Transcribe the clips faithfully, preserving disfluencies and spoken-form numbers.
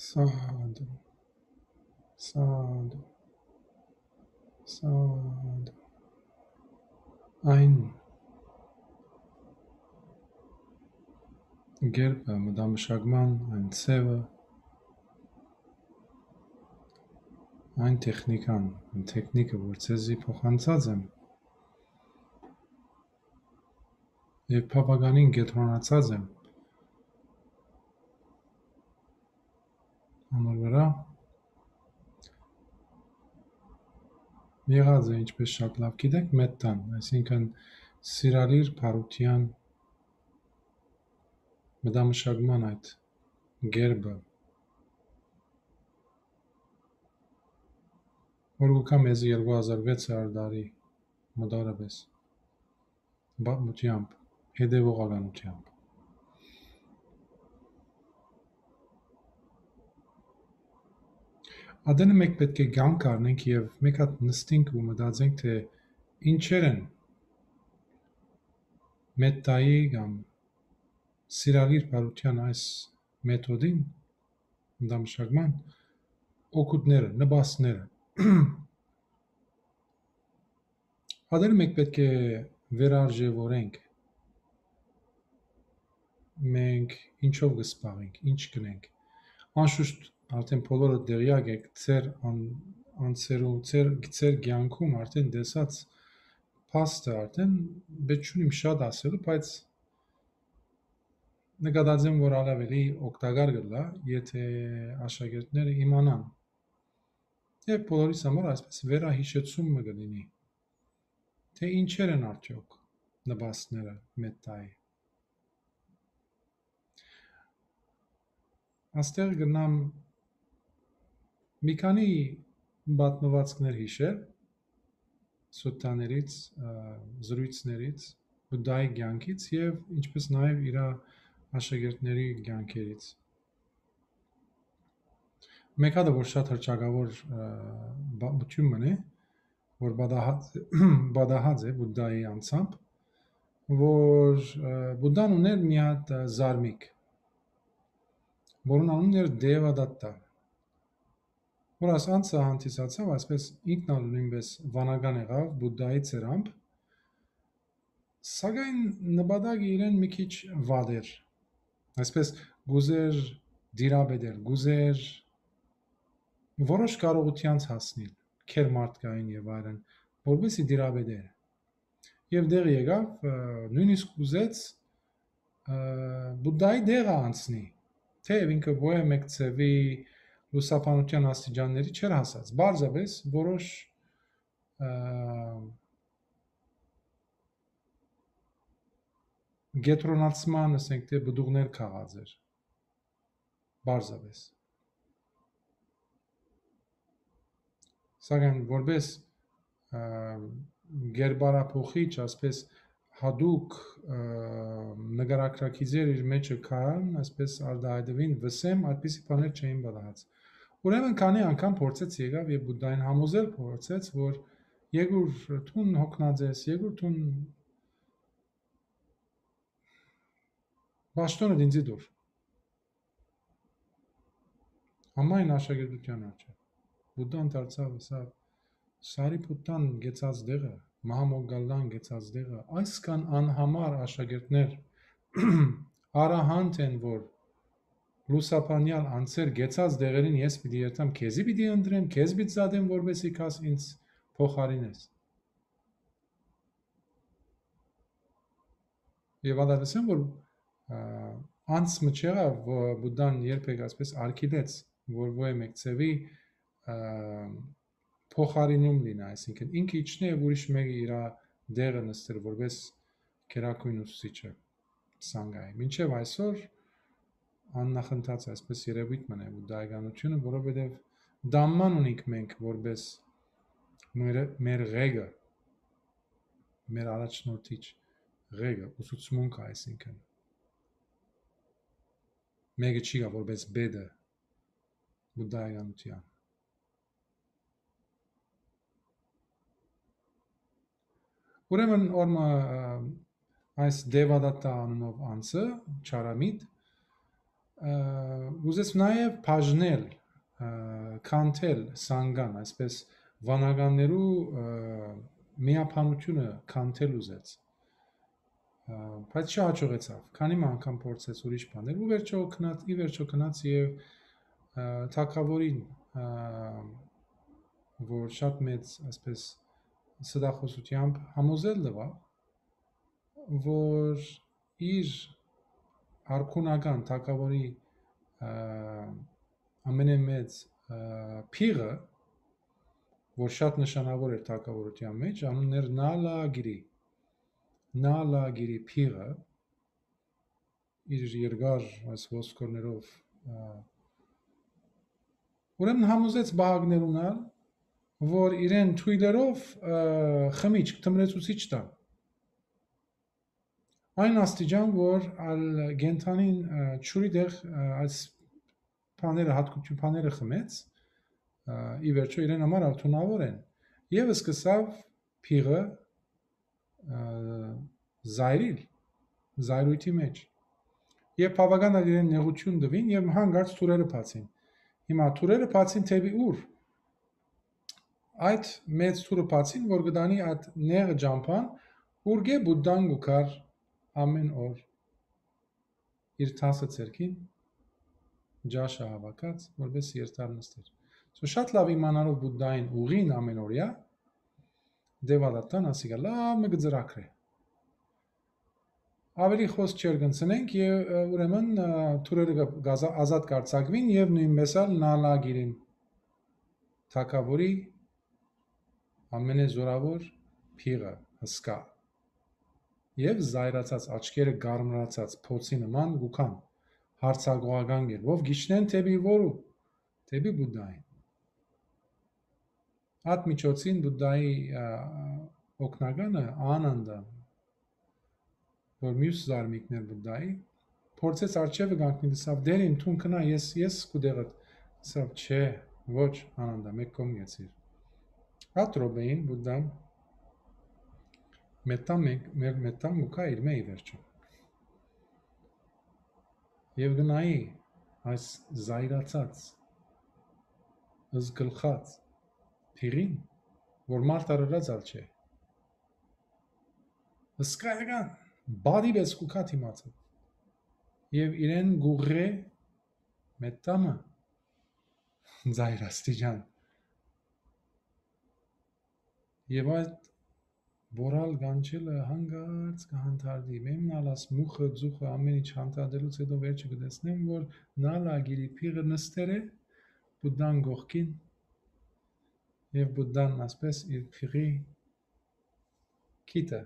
Սադու, սադու, սադու։ Այն գերբը, մտամշակման այն ձևը, այն տեխնիկան, այն տեխնիկը, որ ձեզի փոխանցած եմ, եւ բաւականին կեդրոնացած եմ անոր վրայ, եղած է, ինչպես շատ լաւ գիտեք, մետտան, այսինքն՝ սիրալիր բարութեան մտամշակման այդ գերբը, որ կու գայ մեզի երկու հազար վեց հազար տարի մտարապես, պատմութեամբ, հետեւողականութեամբ։ Ատենը մէկ պէտք է կանգ առնենք եւ մէկ հատ նստենք ու մտածենք, թէ ինչեր են մետտայի կամ սիրալիր բարութեան այս մեթոդին, մտամշակման օգուտները, նպաստները։ Ատենը մէկ պէտք է վերարժեւորենք, մենք ինչով կը զբաղենք, ինչ կնենք։ Անշուշտ, արդեն բոլորը տեղյակ եք, ձեր ան-, անձերու, ձեր, ձեր կեանքում արդեն տեսած փաստը, արդեն վեճ չունիմ շատ ասելու, բայց նկատած եմ, որ ալ աւելի օգտակար կ'ըլլայ, եթէ աշակերտները իմանան, եւ բոլորիս համար այսպես վերահիշեցում մը կը լինի, թէ ինչեր են արդեօք նպաստները մետտայի։ Աստեղ կրնամ մի քանի պատմուածքներ յիշել, սուտտաներից, ը, զրոյցներից, Բուդդայի կեանքից եւ ինչպես նաեւ իր աշակերտների կեանքերից։ Մէկ հատը, որ շատ հռչակաւոր, ը, պատմութիւն մըն է, որ պատահած, պատահած է Բուդդայի անձամբ, որ, ը, Բուդդան ուներ մի հատ, ը, զարմիկ, որուն անունն էր Դեվադատտա, որ այս անձը հանդիսացաւ, այսպես ինքն ալ նոյնպես վանական եղաւ Բուդդայի ձեռամբ, սակայն նպատակը իրեն մի քիչ վատ էր, այսպես կ'ուզէր տիրապետել, կ'ուզէր որոշ կարողութեանց հասնիլ, քեր մարդկային եւ այլն, որպեսզի տիրապետէր։ Եւ տեղ եկաւ, ը, նոյնիսկ ուզեց, ը, Բուդդայի տեղը անցնի, թէեւ ինքը ոյ մէկ ձեւի լուսաբանութեան աստիճանների չէր հասած։ Պարզապէս որոշ, ը, կեդրոնացման, ասենք թէ, պտուղներ քաղած էր։ Պարզապէս։ Սակայն որպէս, ը, կերպարափոխիչ, այսպես յատուկ, ը, նկարագրագիծեր իր մէջը կան, այսպես արտայայտուին վսեմ, այդպիսի բաներ չէին պատահած։ Ուրեմն քանի անգամ փորձեց եկաւ եւ Բուդդային համոզել փորձեց, որ «Եգուր, դուն յոգնած ես, Եգուր, դուն պաշտօնը ինձի տուր»։ Համայն աշակերտութեան առջեւ։ Բուդդան դարձաւ, ըսաւ. «Սարիփութտան գեցած տեղը, Մահամոգգալլան գեցած տեղը, այսքան անհամար աշակերտներ, արահանտ են, որ լուսաբանեալ անձեր գեցած տեղերին ես պիտի երթամ, քեզի պիտի ընտրեմ, քեզ պիտի զատեմ, որպեսզի գաս ինձ փոխարինես»։ Եւ ատալսեմ, որ, ա, անց մը չեղաւ, որ Բուդդան երբեք այսպես արգիլեց, որ ոյ մէկ ձեւի, ա, փոխարինում լինի, այսինքն ինքը իջնէ եւ ուրիշ մեկը իրա տեղը նստեր որպես գերագույն ուսուցիչը Սանգայի։ Մինչեւ այսօր աննախընթաց այսպես երևույթ մնայ Բուդդայականությունը, որովհետեւ դամման ունենք մենք որպես մեր, մեր ղեկը, մեր առաջնորդիչ ղեկը, ուսուցմունքը, այսինքն մեկը չի գա որպես բեդը Բուդդայականության։ Ուրեմն օրմը, ը, այս Դեվադատտա անունով անձը, չարամիտ, Ա, ուզեց նաեւ բաժնել, ա, քանթել սանգան, այսպես վանականներու, ա, միաբանութիւնը քանթել ուզեց։ Ա, բայց չհաջողեցաւ։ Քանի մը անգամ փորձեց ուրիշ բաներ, ու վերջո գնաց, ի վերջո գնաց եւ, ա, թագաւորին, ա, որ շատ մեծ, այսպես, ստախոսութեամբ համոզել տուաւ, որ իր արքունական թագաւորի, ա, ամենամեծ, ա, փիղը, որ շատ նշանաւոր էր թագաւորութեան մէջ, անունն էր Նալագիրի։ Նալագիրի փիղը, իր երկար այս ոսկորներով, ա, ուրեմն համոզեց պահակներուն ալ, որ իրեն թոյլերով, ա, խմիչք, թմրեցուցիչ տան։ Այն աստիճան, որ ալ կենդանին, ա, ջուրի տեղ, ա, այս բաները, հատկություն բաները խմեց, ա, ի վերջո իրեն համար ալ թունաւոր են, եւ սկսաւ փիղը, ա, զայրիլ, զայրույթի մէջ։ Եւ բաւական ալ իրեն նեղութիւն տուին եւ հանկարծ թուրերը բացին։ Հիմա թուրերը բացին դէպի ուր։ Այդ մեծ թուրը բացին, որ կտանի այդ նեղ ճամբան, ուրկէ Բուդդան կու գար ամեն օր իր տասը ձեռքին, ճաշը հաւաքած, որպէս երթար նստեր։ So շատ լաւ իմանալով Բուդդային ուղին ամենօրեայ, Դեվադատան ասիկա լաւ մը կը ծրագրէ։ Աւելի խօս չերկնցնենք եւ, ը, ուրեմն, ը, թուրերը կը, կազա-, ազատ կարձակուին եւ նոյնպէս ալ Նալագիրին թագաւորի ամենեզորաւոր փիղը, հսկայ։ Եւ զայրացած, աչքերը կարմրացած փոցի նման կու գան, յարձակողական կերպով գիչնեն դէպի որու, դէպի Բուդդային։ Այդ միջոցին Բուդդայի, ա, օգնականը, Անանդա, որ մյուս զարմիկն էր Բուդդայի, փորձեց արջեւը կանգնել, ասաւ. «Դեր իմ, դուն քնա, ես, ես քու տեղդ»։ Ասաւ. «Չէ, ոչ, Անանդա, մէկ կողմ գեցիր»։ Այդ րոպեին Բուդդան մետան մե-, մեր մետան կու գայ իր մէ ի վերջո։ Եւ կը նայի այս զայրացած, զգլխած փիղին, որ մարդ արարած ալ չէ, հսկայական, բադի պէս կու գայ դիմացը, եւ իրեն կուղղէ մետամը, զայր աստիճան։ Եւ այդ բորալ կանչելը հանկարծ կը հանդարտի։ Մեմն ալ աս մուխը, ձուխը, ամեն ինչ հանդարտելուց հետո վերջը կը տեսնեմ, որ Նալագիրի փիղը նստեր է Բուդդան կողքին, եւ Բուդդան ասպես իր փիղի քիթը,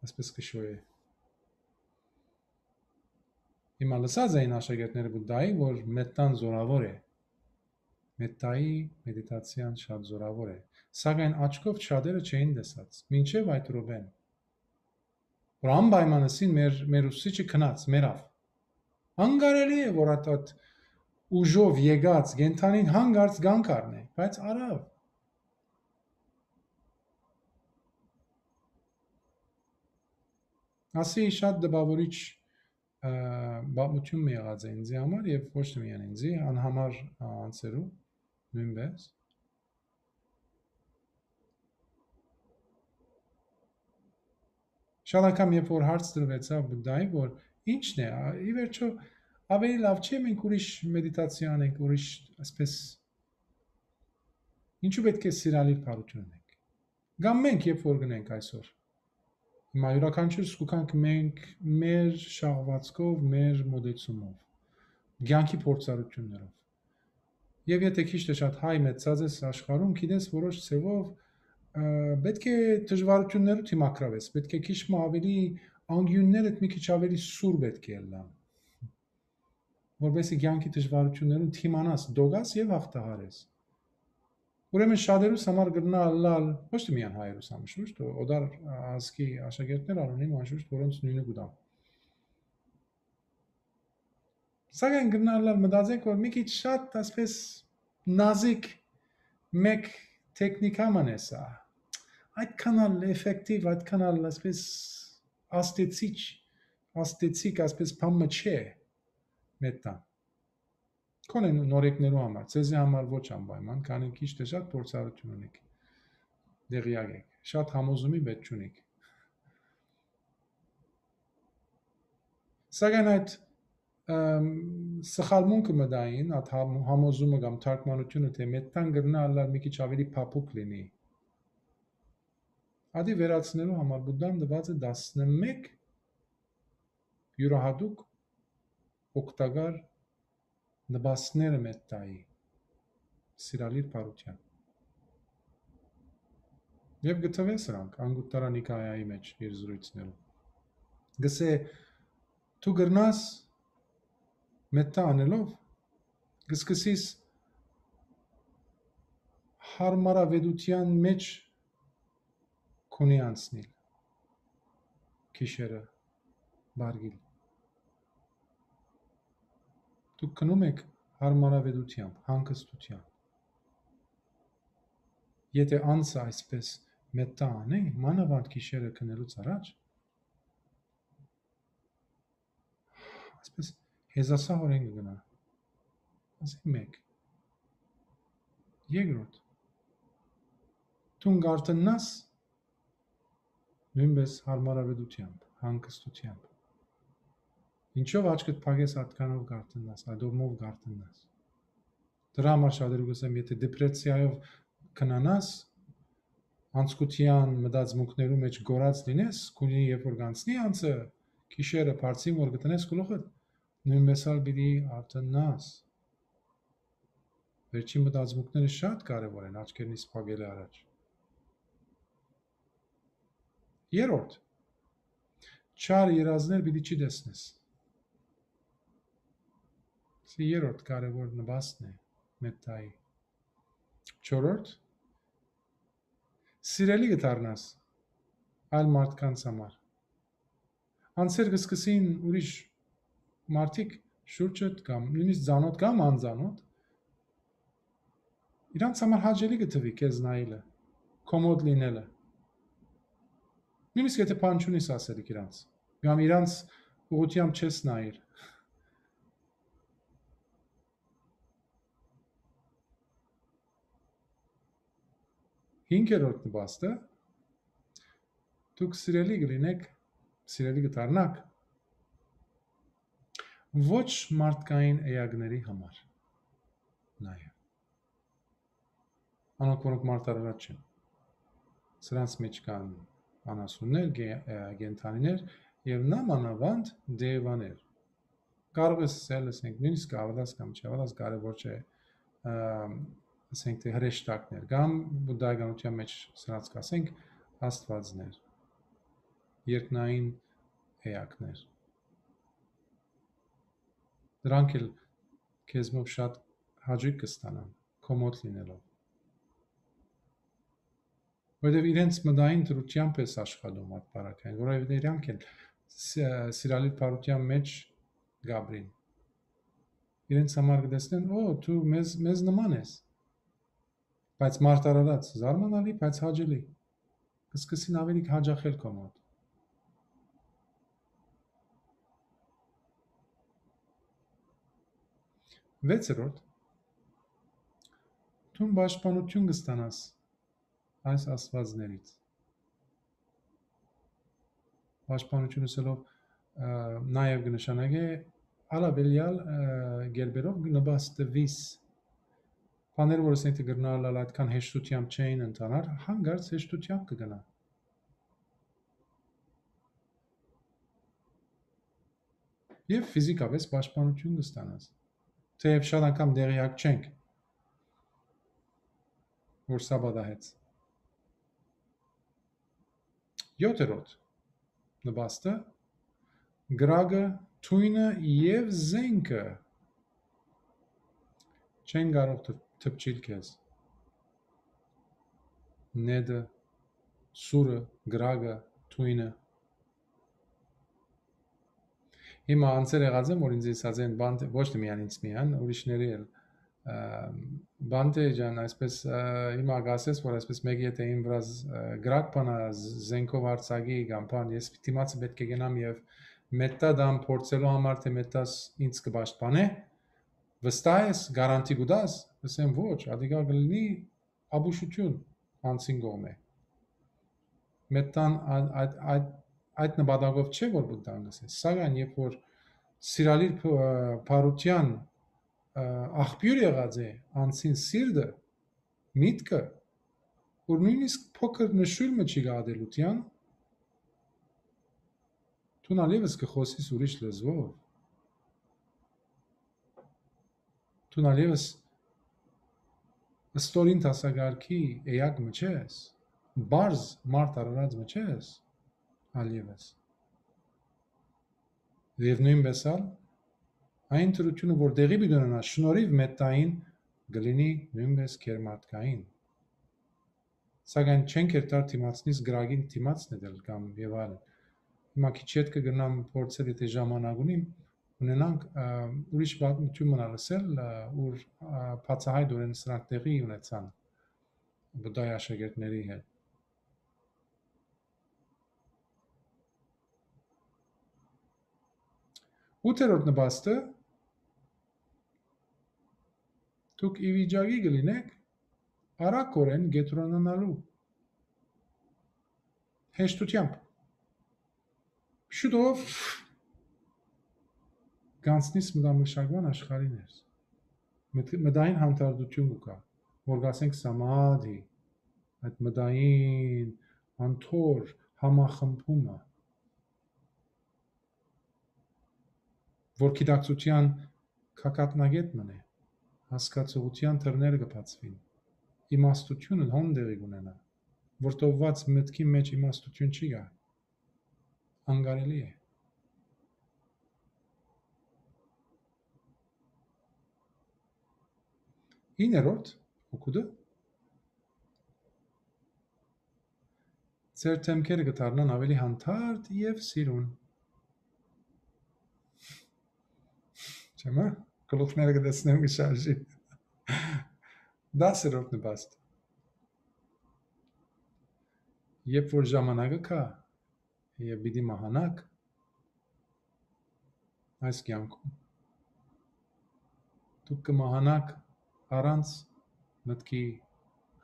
ասպես կը շոյէ։ Հիմա լսած էին աշակերտները Բուդդայի, որ մետան զորաւոր է։ Մետայի մեդիտացիան շատ զորաւոր է, սակայն աչքով շատերը չէին տեսած, մինչեւ այդ րոպեն, որ անպայման ըսին մեր, մեր ուսուցիչը գնաց, մեռաւ։ Անկարելի է, որ այդ, այդ ուժով եկած կենդանին հանկարծ կանգ առնէ, բայց արաւ։ Ասի շատ տպաւորիչ, ը, պատմություն մը եղած է ինձի համար եւ ոչ թե միայն ինձի, անհամար, ը, անձերու նոյնպէս։ Շատ անգամ, երբ որ հարց տրուեցաւ Բուդդայի, որ ի՞նչն է, ա, ի վերջո ավելի լաւ չէ՞ մենք ուրիշ մեդիտացիա անենք, ուրիշ, այսպես, ինչու՞ պէտք է սիրալիր բարութիւն ունենք։ Կամ մենք, երբ որ գնենք այսօր, հիմա յուրաքանչյուր զգուքանք մենք մեր շահվածքով, մեր մոտեցումով, կյանքի փորձառություններով։ Եվ եթե քիչ թե շատ հայ մեծած ես աշխարհում, գիտես, որոշ ձևով, ը, պէտք է դժվարություններու դիմակրավես, պէտք է քիչ մը ավելի անգիւններդ մի քիչ ավելի սուր պէտք է ըլլան, որպեսզի կյանքի դժվարություններուն դիմանաս, դոգաս եւ հաղթահարես։ Ուրեմն շատերուս համար կրնա ըլլալ, ոչ թե միայն հայերուս համար, շուշտ, օտար ազգի աշակերտներ ալ ունին, անշուշտ, որոնց նույնը կու տամ։ Սակայն կրնա ըլլալ մտածենք, որ մի քիչ շատ, այսպես, նազիկ մեկ տեխնիկա մը է սա։ Այդքան ալ էֆեկտիվ, այդքան ալ, այսպես, աստեցիչ, աստեցիկ, այսպես, բան մը չէ։ մետան։ Քոնե նորեկներու համար, ձեզի համար ոչ անպայման, քանի քիչ թէ շատ փորձառութիւն ունիք, տեղեակ եք, շատ համոզումի պէտք չունիք։ Սակայն այդ, ըմ, սխալմունքը մտային, այդ համ-, համոզումը կամ թարգմանութիւնը, թէ մետան կրնայ ըլլալ մի քիչ աւելի փափուկ լինի, ատի վերացնելու համար Պուդդան տուած է տասնմէկ իւրայատուկ օգտակար նպաստները մետայի, սիրալիր բարութեան։ Եւ կը թուէ սրանք Անգուտտարա Նիկայայի մէջ իր զրոյցներուն։ Գսէ, դու կրնաս մետա անելով, կսկսիս հարմարավետութեան մէջ քունի անցնիլ, գիշերը վարգիլ։ Դուք գնում եք հարմարավետութեամբ, հանգստութեամբ։ Եթէ անձը այսպես մետա անէ, մանաւանդ գիշերը քնելուց առաջ, այսպես հեզասահորեն կը գնայ։ Ասի մէկ։ Երկրորդ, դուն կ'արթննաս նոյնպէս հարմարավետութեամբ, հանգստութեամբ։ Ինչո՞վ աչքդ փակես, ատկանով կ'արթննաս, ադովմով կ'արթննաս։ Դրա համար շատերու կ'ըսեմ, եթէ դեպրեսիայով քնանաս, անցկութեան մտածմունքներու մէջ կորած լինես, քունի երբ որ կ'անցնի անցը, գիշերը բարձին որ կ'ընես գլուխդ, նոյնպէս ալ պիտի արթննաս։ Վերջին մտածմունքները շատ կարեւոր են, աչքերնից փակելը առաջ։ Երրորդ, չար երազներ պիտի չի տեսնես։ Սա երրորդ կարեւոր նպաստն է մետայի։ Չորրորդ, սիրելի կը դառնաս այլ մարդկանց համար։ Անձեր կը սկսին ուրիշ մարդիկ շուրջդ կամ նոյնիսկ ծանօթ կամ անծանօթ, իրանց համար հաճելի կը թուի քեզ նայելը, քոմոդ լինելը։ Նոյնիսկ եթէ բան չունիս ասելիք իրանց, կամ իրանց ուղղութեամբ չես նայիր։ Հինգերորդ նպաստը, դուք սիրելի կլինեք, սիրելի կդառնաք ոչ մարդկային էակների համար նաեւ։ Անոնք, որոնք մարդարարած չեն։ Սրանց մեջ կան անասուններ, գե-, ը, կենդանիներ եւ նամանավանդ դեւաներ։ Կարող ես ասել, ասենք, նոյնիսկ կհաւատաս կամ չհաւատաս, կարեւոր չէ, ը, ասենք, թէ հրեշտակներ, կամ բուդդայականության մեջ սրանց կ'ասենք աստուածներ, երկնային էակներ։ Դրանք էլ քեզմով շատ հաճոյք կը ստանան, քոմոդ լինելով։ Որովհետեւ իրենց մտային դրութեամբ ես աշխատում, այդ բարակային, որովհետեւ իրանք են ս-, սիրալիր բարութեան մեջ կ'ապրին։ Իրենց համար կը տեսնեն, «Օ, դու մեզ, մեզ նման ես»։ Բայց մարդարարած, զարմանալի, բայց հաճելի։ Կսկսին ավելի հաճախել քո մոտ։ Վեցերորդ, դուն պաշտպանութիւն կստանաս այս աստուածներից։ Պաշտպանութիւն ըսելով, ը, նաեւ կը նշանակէ ալավելեալ, ը, գերբերով կը նպաստուիս։ Բաներ, որ ասենք, թէ կրնալ ալ այդքան հեշտութեամբ չէին ընթանար, հանկարծ հեշտութեամբ կը գնա։ Եւ ֆիզիկապես պաշտպանութիւն կստանաս։ Թեեւ շատ անգամ տեղեակ չենք, որ սա պատահեց։ Յոթերորդ նպաստը, կրակը, թոյնը եւ զենքը չեն կարող թ-, թփչիլ քեզ։ Նետը, սուրը, կրակը, թոյնը։ Հիմա անձեր եղած են, որ ինձ ասած են, բանտ-, ոչ թե միայն ինձ միայն, ուրիշների էլ, ը, Բանտե ջան, այսպես, ը, հիմա կասես, որ այսպես մեկը եթե իմ վրազ, ը, կրակ բանա, զ-, զենքով արձակի կամ բան, ես դիմացը պէտք է գնամ եւ Մետտա դամ փորձելու համար, թէ մետտաս ինձ կը պաշտպանէ, վստահ ես, գարանտի կու տաս, ըսեմ ոչ, ատիկա կը լինի ապուշութիւն անցին կողմէ։ Մետտան ա-, այդ, այդ, այդ նպատակով չէ, որ Բուդդան կ'ըսէ, սակայն երբ որ սիրալիր փ-, ը, բարության, ը, աղբիւր եղած է անցին սիրտը, միտքը, որ նոյնիսկ փոքր նշոյլ մը չի գայ ատելութեան, դուն ալ եւս կը խօսիս ուրիշ լեզուով։ Դուն ալ եւս ստորին դասակարգի էակ մը չես, բարձր մարդ արարած մը չես, ալ եւս։ Եւ նոյնպէս ալ այն դրութիւնը, որ տեղի պիտի ունենայ շնորհիվ մետտային, կը լինի նոյնպէս գերմարդկային։ Սակայն չենք երթար դիմացնիս կրակին դիմացն է դել կամ եւ այլն։ Հիմա քիչ յետ կը գնամ փորձել, եթէ ժամանակ ունիմ, ունենանք, ը, ուրիշ պատմութիւն մնալ ըսել, ը, ուր, ը, բացահայտօրէն սրանք տեղի ունեցան Բուդդայի աշակերտների հետ։ Ութերորդ նպաստը, դուք ի վիճակի կը լինէք արագօրէն կեդրոնանալու հեշտութեամբ։ Շուտով կանցնիս մտամշակման աշխարհի ներս։ Մտ-, մտային հանդարտութիւն կու գայ, որ կ'ասենք սամադհի, այդ մտային անդոր համախմբումը, որ գիտակցութեան գագաթնակետ մըն է, հասկացողութեան դռները կը բացուին, իմաստութիւնը հոն տեղի կունենայ, վրդովուած մտքի մէջ իմաստութիւն չի գայ, անկարելի է։ Իններորդ օգուտը, ձեր դեմքերը կը դառնան աւելի հանդարտ եւ սիրուն։ Չէ՞, մը, գլուխները կը տեսնեմ կը շարժի։ Դասերորդ նպաստ։ Երբ որ ժամանակը կայ, եւ պիտի մահանաք այս կեանքում, դուք կը մահանաք առանց մտքի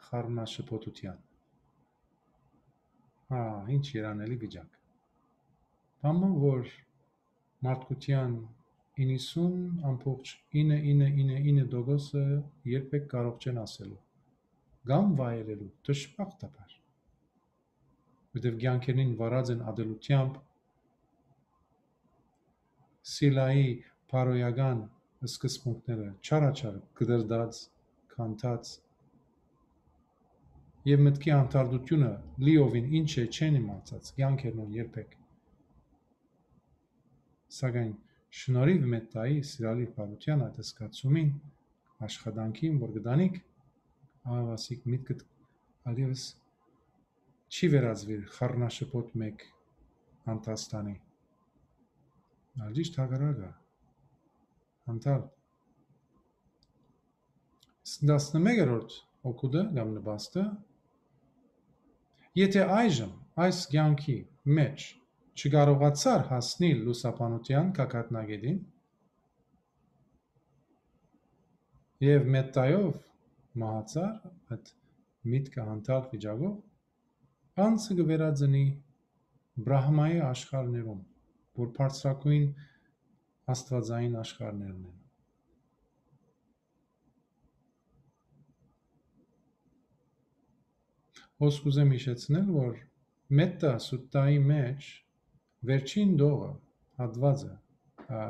խառնաշփոթութեան։ Հա, ինչ երանելի վիճակ։ Բան մը, որ մարդկութեան իննսուն ամբողջ ինը ինը ինը ինը տոկոսը երբեք կարող չեն ասելու կամ վայելելու, դժբախտաբար, որտեւ կեանքերնին վարած են ատելութեամբ, սիլայի բարոյական սկզբունքները չարաչար կտրտած, քանդած, եւ մտքի անդարտությունը լիովին ինչ է չեն իմացած, կեանքերնուն երբեք։ Սակայն շնորհիվ մետտայի սիրալիր բարության այդ զգացումին, աշխատանքին, որ կտանիք, ահա ասիկ միտքդ ալ եւս չի վերածվիր խառնաշփոթ մէկ անդաստանի, ալ ճիշդ հակառակը, անդարտ։ Տասնմեկերորդ օգուտը կամ նպաստը, եթե այժմ այս կեանքի մէջ չկարողացար հասնիլ լուսաբանության գագաթնակետին եւ մետտայով մահացար այդ միտքը հանդարտ վիճակով, անձը կը վերածնի Բրահմայի աշխարհներուն, որ բարձրագոյն աստվածային աշխարհներն են։ Հոս կուզեմ հիշեցնել, որ Մետտա Սուտտայի մէջ վերջին դողը, հատվածը, ա,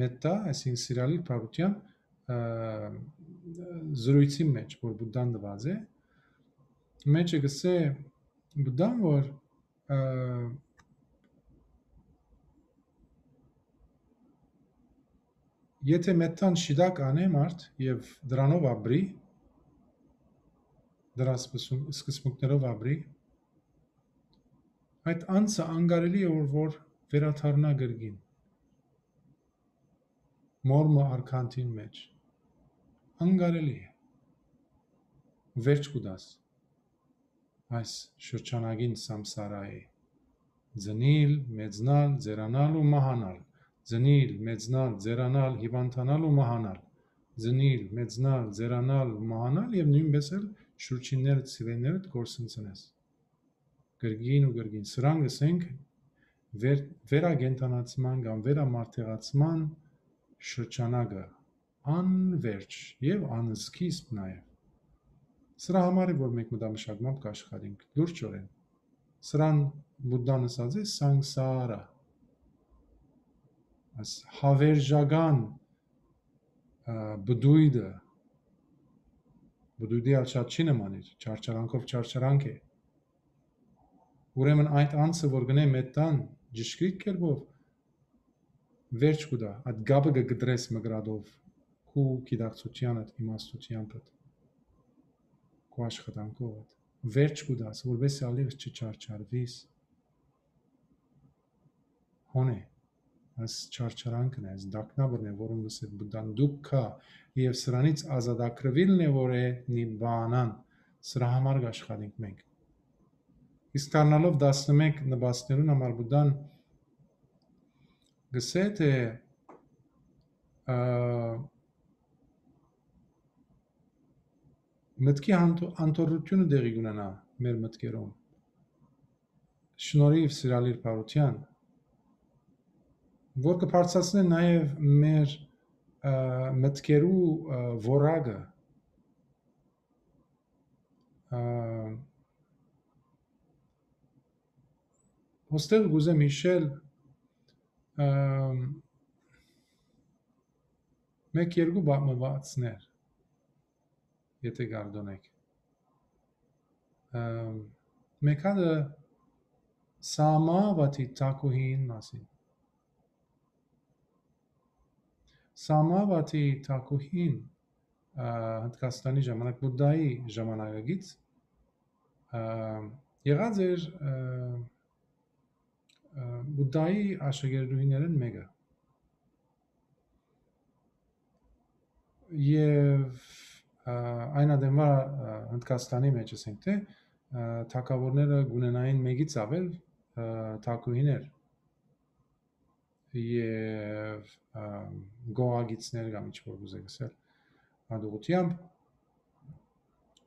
Մետտա, այսինքն սիրալիր բարության, ա, զրույցի մէջ, որ Բուդդան տուած է, մէջը կսէ Բուդդան, որ, ա, եթե մետտան շիտակ անէ մարդ եւ դրանով ապրի, դրա սկսում-, սկզբունքներով ապրի, այդ անձը անկարելի է, որ, որ վերադառնայ կրկին մոր մը արքանթին մէջ։ Անկարելի է։ Վերջ կու տաս այս շրջանագին սամսարայի, Ծնիլ, մեծնալ, ձեռանալ ու մահանալ։ Ծնիլ, մեծնալ, ձեռանալ, հիւանդանալ ու մահանալ։ Ծնիլ, մեծնալ, ձեռանալ ու մահանալ եւ նոյնպէս էլ շուրջիններդ, սիրելիներդ կորսնցնես։ Կրկին ու կրկին։ Սրան կ'ըսենք վեր-, վերակենդանացման կամ վերամարտեղացման շրջանակը, անվերջ եւ անսկիզբ նաեւ։ Սրա համար է, որ մենք մտամշակմամբ կ'աշխատենք լուրջօրէն։ Սրան Բուդդան ըսած է սանգսարա, այս հավերժական, ա, բդույթը, բդույթի ալ շատ չի նմանիր, չարչարանքով չարչարանք է։ Ուրեմն այդ անձը, որ գնե մետան ճշգրիտ կերպով, վերջ կու տայ, այդ կապը կը կտրես մկրատով, քու գիտակցութեանդ, իմաստութեանդ, քու աշխատանքովդ, վերջ կու տաս, որպեսզի ալիղ չչարչարվիս։ Հոն է, այս չարչարանքն է, այս դակնաբրն է, որուն կ'ըսէ Բուդդան դուքքա, եւ սրանից ազատագրուիլն է, որ է նիբանան, սրա համար կ'աշխատենք մենք։ Իսկ դառնալով տասնմեկ նպաստներուն համար Բուդդան կ'ըսէ, թե, ա, մտքի անթ-, անթոռութիւնը տեղի կ'ունենայ մեր մտքերում, շնորհիւ սիրալիր բարութեան, որ կը բարձրացնէ նաեւ մեր, ա, մտքերու, ա, որակը, ա, ոստեղ կ'ուզեմ յիշել, ա, մէկ երկու պատմուածներ, եթե կարդոնեք։ Ա, մէկ հատը Սամավաթի թագուհին մասին։ Սամավաթի թագուհին, ա, Հնդկաստանի ժամանակ, Բուդդայի ժամանակակից, ա, եղած էր, ա, ա, Բուդդայի աշակերտուհիներէն մէկը։ Եւ, ա, այն ատենուա, ա, Հնդկաստանի մէջ, ասենք թէ, ա, թագաւորները կ'ունենային մէկից աւել, ա, թագուհիներ եւ, ա, գողագիցներ կամ ինչ որ կ'ուզէք ըսել, հատուղութեամբ։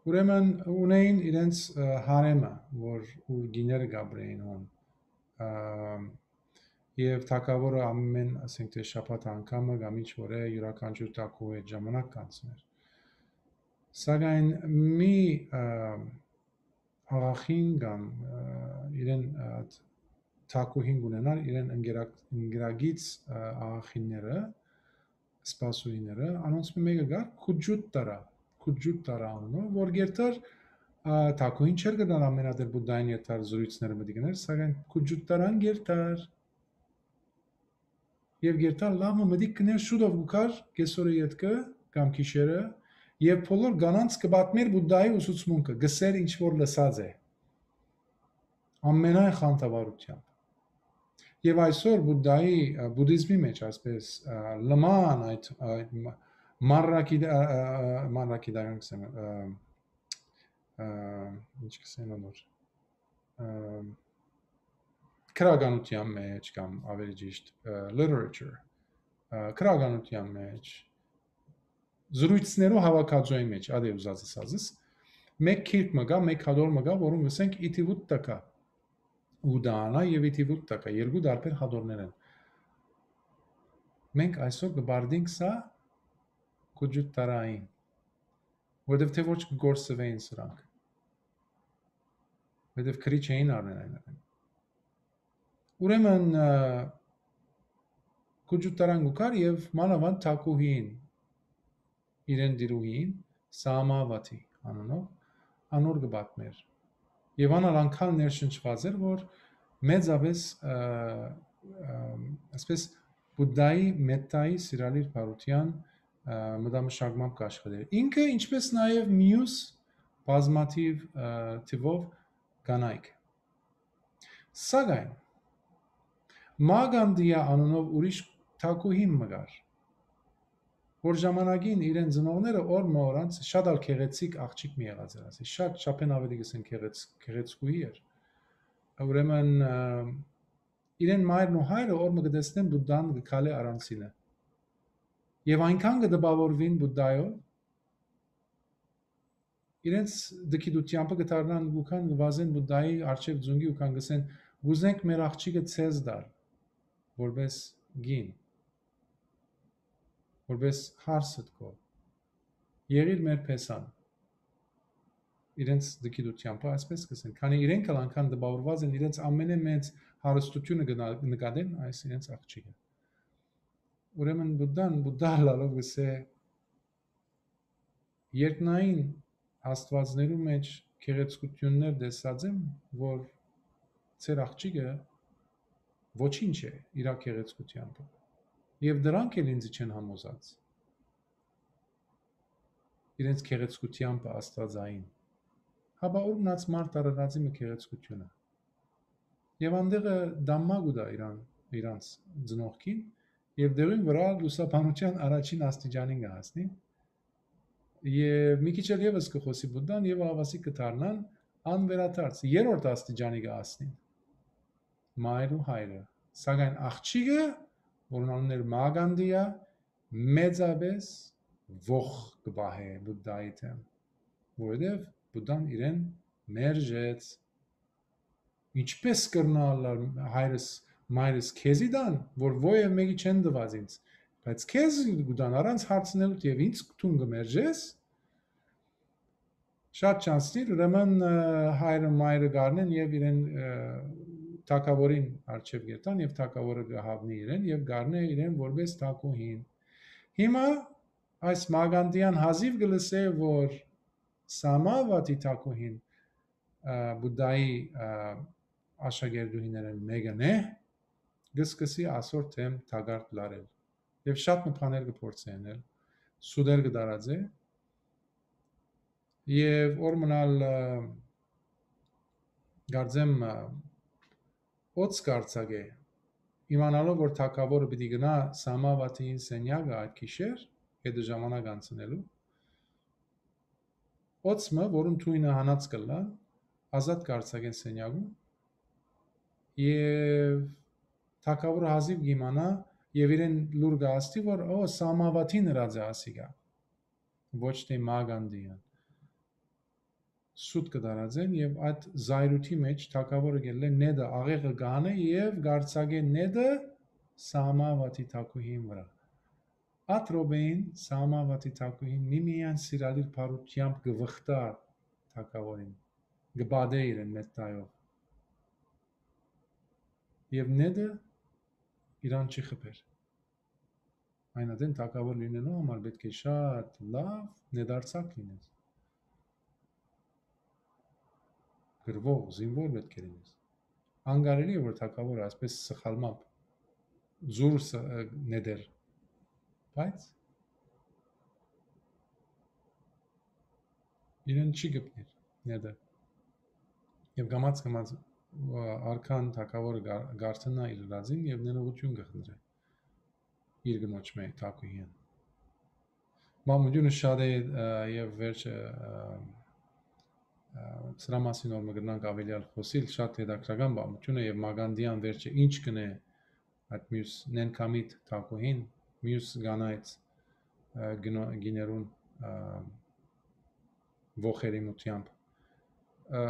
Ուրեմն ունէին իրենց, ա, հարեմը, որ ուր կիները կ'ապրէին հոն, ա, եւ թագաւորը ամեն, ասենք թէ շաբաթ անգամը կամ ինչ որ է, իւրաքանչիւր թագուհու հետ ժամանակ կ'անցնէր։ Սակայն մի, ա, աղախին կամ, ա, իրեն, ա, թագուհին կ'ունենար իրեն ընկերակ-, ընկերագից, ա, աղախինները, սպասուհիները, անոնց մէ մէկը կար Քուջուտտարա, Քուջուտտարա անունով, որ գերտար, ա, թագուհին չէր գնար ամենատեր Բուդդային երթար զրույցները մտի կներ, սակայն Քուջուտտարան գերտար։ Եւ գերտար լաւ մը մտիկ կներ շուտով կու կար, կեսօրը ետքը կամ գիշերը, եւ բոլոր կանանց կը պատմեր Բուդդայի ուսուցմունքը, կ'ըսէր ինչ որ լսած է։ Ամենայն խանդավառությամբ։ Եւ այսօր Բուդդայի, ա, բուդիզմի մեջ, այսպես, ա, լման այդ, այդ մա-, մանրակիդ-, ա, ա, ա, մանրակիդական կ'ըսեմ, ա, ա, ինչ կ'ըսեմ անոր, ա, գրականության մեջ կամ ավելի ճիշտ, ա, literature, ա, գրականության մեջ, զրույցներու հավաքածոյի մեջ, ադէ ուզած ըսածս, մէկ գիրք մը կայ, մէկ հատոր մը կայ, որուն կ'ըսենք Իթիվուտտակա, Ուդանա եւ Իթիվուտտակա, երկու տարբեր հատորներ են։ Մենք այսօր կը բարդենք սա Քուջուտտարային, որովհետեւ թէ ոչ կը կորսուէին սրանք, որովհետեւ քրի չէին առնեն այն ատեն։ Ուրեմն, ը, Քուջուտտարան կու կար եւ մանաւանդ թագուհին, իրեն տիրուհին, Սամավաթի անունով, անոր կը պատմեր։ Եւ ան ալ անկալ ներշնչուած էր, որ մեծապէս, ը, ը, այսպես, Բուդդայի, Մեթայի, սիրալիր բարության, ը, մտամշակմամբ կ'աշխատէր։ Ինքը, ինչպես նաեւ միւս բազմաթիւ, ը, թիւով կանայք։ Սակայն Մագանդիա անունով ուրիշ թագուհին մը կար, որ ժամանակին իրեն ծնողները օր մը օրանց շատ ալ գեղեցիկ աղջիկ մը եղած էր, ասի, շատ չափէն աւելի կ'ըսեն գեղեց-, գեղեցկուհի էր։ Ուրեմն, ը, իրեն մայրն ու հայրը օր մը կը տեսնեն Բուդդան կը քալէ առանցինը։ Եւ այնքան կը տպաւորուին Բուդդայով, իրենց դքիդութեամբը կը դառնան ու կան կը վազեն Բուդդայի առջեւ ձունկի ու կան կ'ըսեն. «Կ'ուզենք մեր աղջիկը ցեզ տալ, որպես կին, որպես հարսդ քո, եղիր մեր փեսան»։ Իրենց դքիդութեամբը այսպես կ'ըսեն, քանի իրենք ալ անկան տպաւորուած են, իրենց ամենէ մեծ հարստութիւնը կը ն-, նկատեն այս իրենց աղջիկը։ Ուրեմն Բուդդան, Բուդդա ըլլալով կ'ըսէ. «Երկնային աստուածներու մէջ գեղեցկութիւններ տեսած եմ, որ ձեր աղջիկը ոչինչ է իրա գեղեցկութեամբը։ Եւ դրանք էլ ինձ չեն համոզած, իրենց գեղեցկութեամբը աստուածային։ Հապա ո՞ր մնաց մարդ արարածի մը գեղեցկութիւնը»։ Եւ անդեղը դամմա կու տայ իրան, իրանց ծնողքին, եւ դեղին վրայ լուսաբանութեան առաջին աստիճանին կը հասնի։ Եւ մի քիչ ալ եւս կը խօսի Բուդդան, եւ աղավասիկ կը դառնան անվերադարձ, երրորդ աստիճանի կը հասնին մայր ու հայրը։ Սակայն աղջիկը, որուն անունն էր Մագանդիա, մեծապէս ոխ կը պահէ Բուդդայի դէմ, որովհետեւ Բուդդան իրեն մերժեց։ «Ինչպէս կրնայ ըլլալ հայրս, մայրս քեզի տան, որ ոեւ մէկի չեն տուած ինձ, բայց քեզ կու տան առանց հարցնելուդ եւ ինձ դուն կը մերժես»։ Շատ չանցնիր, ուրեմն, ը, հայրը, մայրը գարնեն եւ իրեն, ը, թագաւորին առջեւ կերտան եւ թագաւորը կը հաւնի իրեն եւ գարնէ իրեն որպես թագուհին։ Հիմա այս Մագանդիան հազիւ կը լսէ, որ Սամավատի թագուհին, ը, Բուդդայի, ը, աշակերտուհիներէն մէկն է, կը սկսի ասոր դէմ թակարդ լարել եւ շատ մը բաներ կը փորձէ ընել, սուտեր կը տարածէ եւ օր մը ալ, ը, կարծեմ, ը, օծ կարձակէ, իմանալով որ թագաւորը պիտի գնայ Սամավատին սենյակը այդ գիշեր, հետը ժամանակ անցնելու, օծ մը, որուն թոյնը հանած կ'ըլլայ, ազատ կարձակեն սենյակում եւ թագաւորը հազիւ կ'իմանայ եւ իրեն լուր կը հասցնի, որ, ո, Սամավատին ըրած է ասիկա, ոչ թէ Մագանդիան։ Սուտ կը տարածեն եւ այդ զայրույթի մէջ թագաւորը գելլէ նետը, աղեղը կ'անէ եւ կարձակէ նետը Սամավատի թագուհին վրայ։ Այդ րոպեին Սամավատի թագուհին միմիայն սիրալիր բարութեամբ կը վխտայ թագաւորին, կը պատէ իրեն մեթթայով։ Եւ նետը իրան չի խփեր։ Այն ատեն թագաւոր լինելու համար պէտք է շատ լաւ նետարձակ լինես։ Կռուող, զինվոր պէտք է լինես։ Անկարելի է, որ թագաւորը այսպես սխալմամբ զուր ս-, ը, նետեր, բայց իրեն չի գտնիր նետը։ Եւ կամաց-կամաց, ը, արքան թագաւորը գար-, գարթնայ իր լազին եւ ներողություն կը խնդրէ իր կնոջ մէ թագուհին։ Մամուլյունը շատ է, ը, եւ վերջը, ը, ը, սրա մասին որ մը կրնանք աւելիալ խօսիլ, շատ հետաքրական բանություն է եւ Մագանդիան վերջը ինչ կնե այդ մյուս նենքամիտ թագուհին, մյուս կանայց, ը, գնո-, գիներուն, ը, ոխերիմութեամբ։ Ը,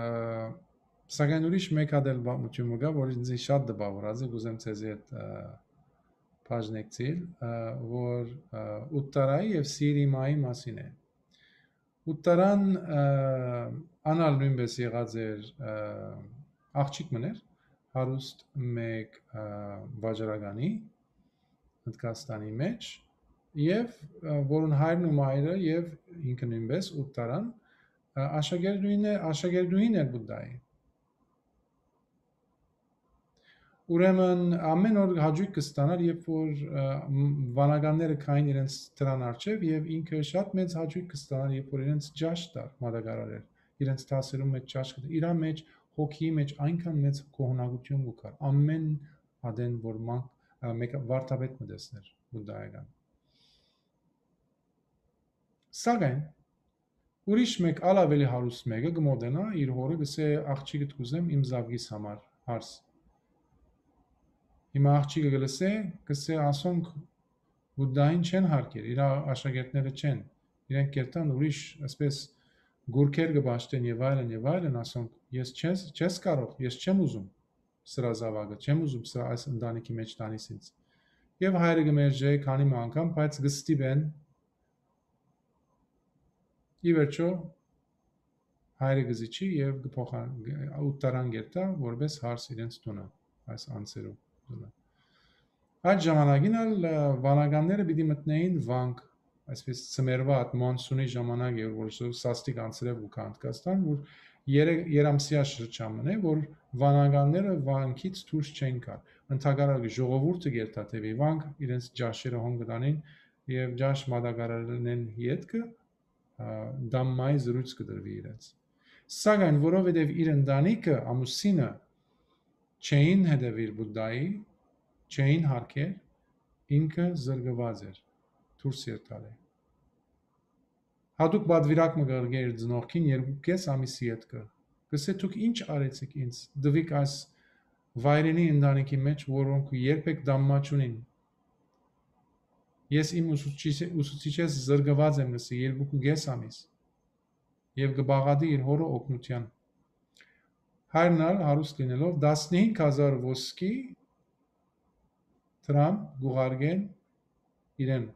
սակայն ուրիշ մէկ հատ էլ բանություն մը կայ, որ ինձ շատ տպաւորած է, կուզեմ ձեզի հետ, ը, բաժնեկցիլ, ը, որ, ը, Ուտտարայի եւ Սիրիմայի մասին է։ Ուտտարան, ը, անալ նոյնպէս եղած էր, ը, աղջիկ մըն էր, հարուստ մէկ, ը, վաճառականի Հնդկաստանի մէջ, եւ, ը, որուն հայրն ու մայրը եւ ինքը նոյնպէս Ուտտարան, ը, աշակերտուհին է, աշակերտուհին էր Բուդդայի։ Ուրեմն ամէն օր հաճոյք կը ստանար, երբ որ, ը, մ-, վանականները քային իրենց դրան առջեւ, եւ ինքը շատ մեծ հաճոյք կը ստանար, երբ որ իրենց ճաշ տար մատակարարեր, իրենց դասերուն մէջ ճաշ կը, իրա մէջ, հոգիի մէջ այնքան մեծ գոհունակություն կու գար, ամէն ատեն որ ման-, ը, մեկը վարդապետ մը տեսներ Բուդդայական։ Սակայն ուրիշ մէկ, ալ աւելի հարուստ մէկը կը մօտենայ իր հօրը, կ'ըսէ. «Աղջիկդ կ'ուզեմ իմ զաւկիս համար», հարս։ Հիմա աղջիկը կը լսէ, կ'ըսէ, «Ասոնք Բուդդային չեն հարգեր, իր աշակերտները չեն։ Իրենք կերտան ուրիշ, այսպես, գուրքեր կը պաշտեն եւ այլն, եւ այլն, ասոնք, ես չես, չես կարող, ես չեմ ուզում սրա զաւակը, չեմ ուզում սրա այս ընտանիքի մեջ տանիս ինձ»։ Եւ հայրը կը մերժէ քանի մը անգամ, բայց կը ստիպեն, ի վերջոյ, հայրը կը զիջի եւ կը փոխան-, Ուտտարան կերտայ որպէս հարս իրենց տունը, այս անձերու տունը։ Այդ ժամանակին ալ, ը, վանականները պիտի մտնէին վանք, այսպես, ծմերուա այդ մոնսունի ժամանակ էր, որ սաստիկ անձրեւ կու գայ Հնդկաստան, որ երեք, երամսեայ շրջան մնէ, որ վանականները վանքից դուրս չեն գար։ Ընդհակառակը ժողովուրդը կերտայ դէպի վանք, իրենց ճաշերը հոն կը տանին եւ ճաշ մատակարարելէն ետքը, ը, դամմայի զրոյց կը տրուի իրենց։ Սակայն որովհետեւ իր ընտանիքը, ամուսինը չէին հետեւիր Բուդդայի, չէին հարգեր, ինքը զրկուած էր, դուրս երթալէ։ Հատուկ պատվիրակ մը կ'ղղէ իր ծնողքին երկու կէս ամիսի ետքը։ Կ'ըսէ, «Դուք ի՞նչ արեցիք ինձ, տուիք այս վայրենի ընտանիքի մեջ, որոնք երբեք դամմա չունին։ Ես իմ ուսուցիչ-, ուսուցիչէս զրկուած եմ», կ'ըսէ, «երկու կէս ամիս»։ Եւ կը բաղատի իր հօրը օգնութեան։ Հայրն ալ հարուստ լինելով, տասնհինգ հազար ոսկի դրամ կ'ուղարկեն իրեն,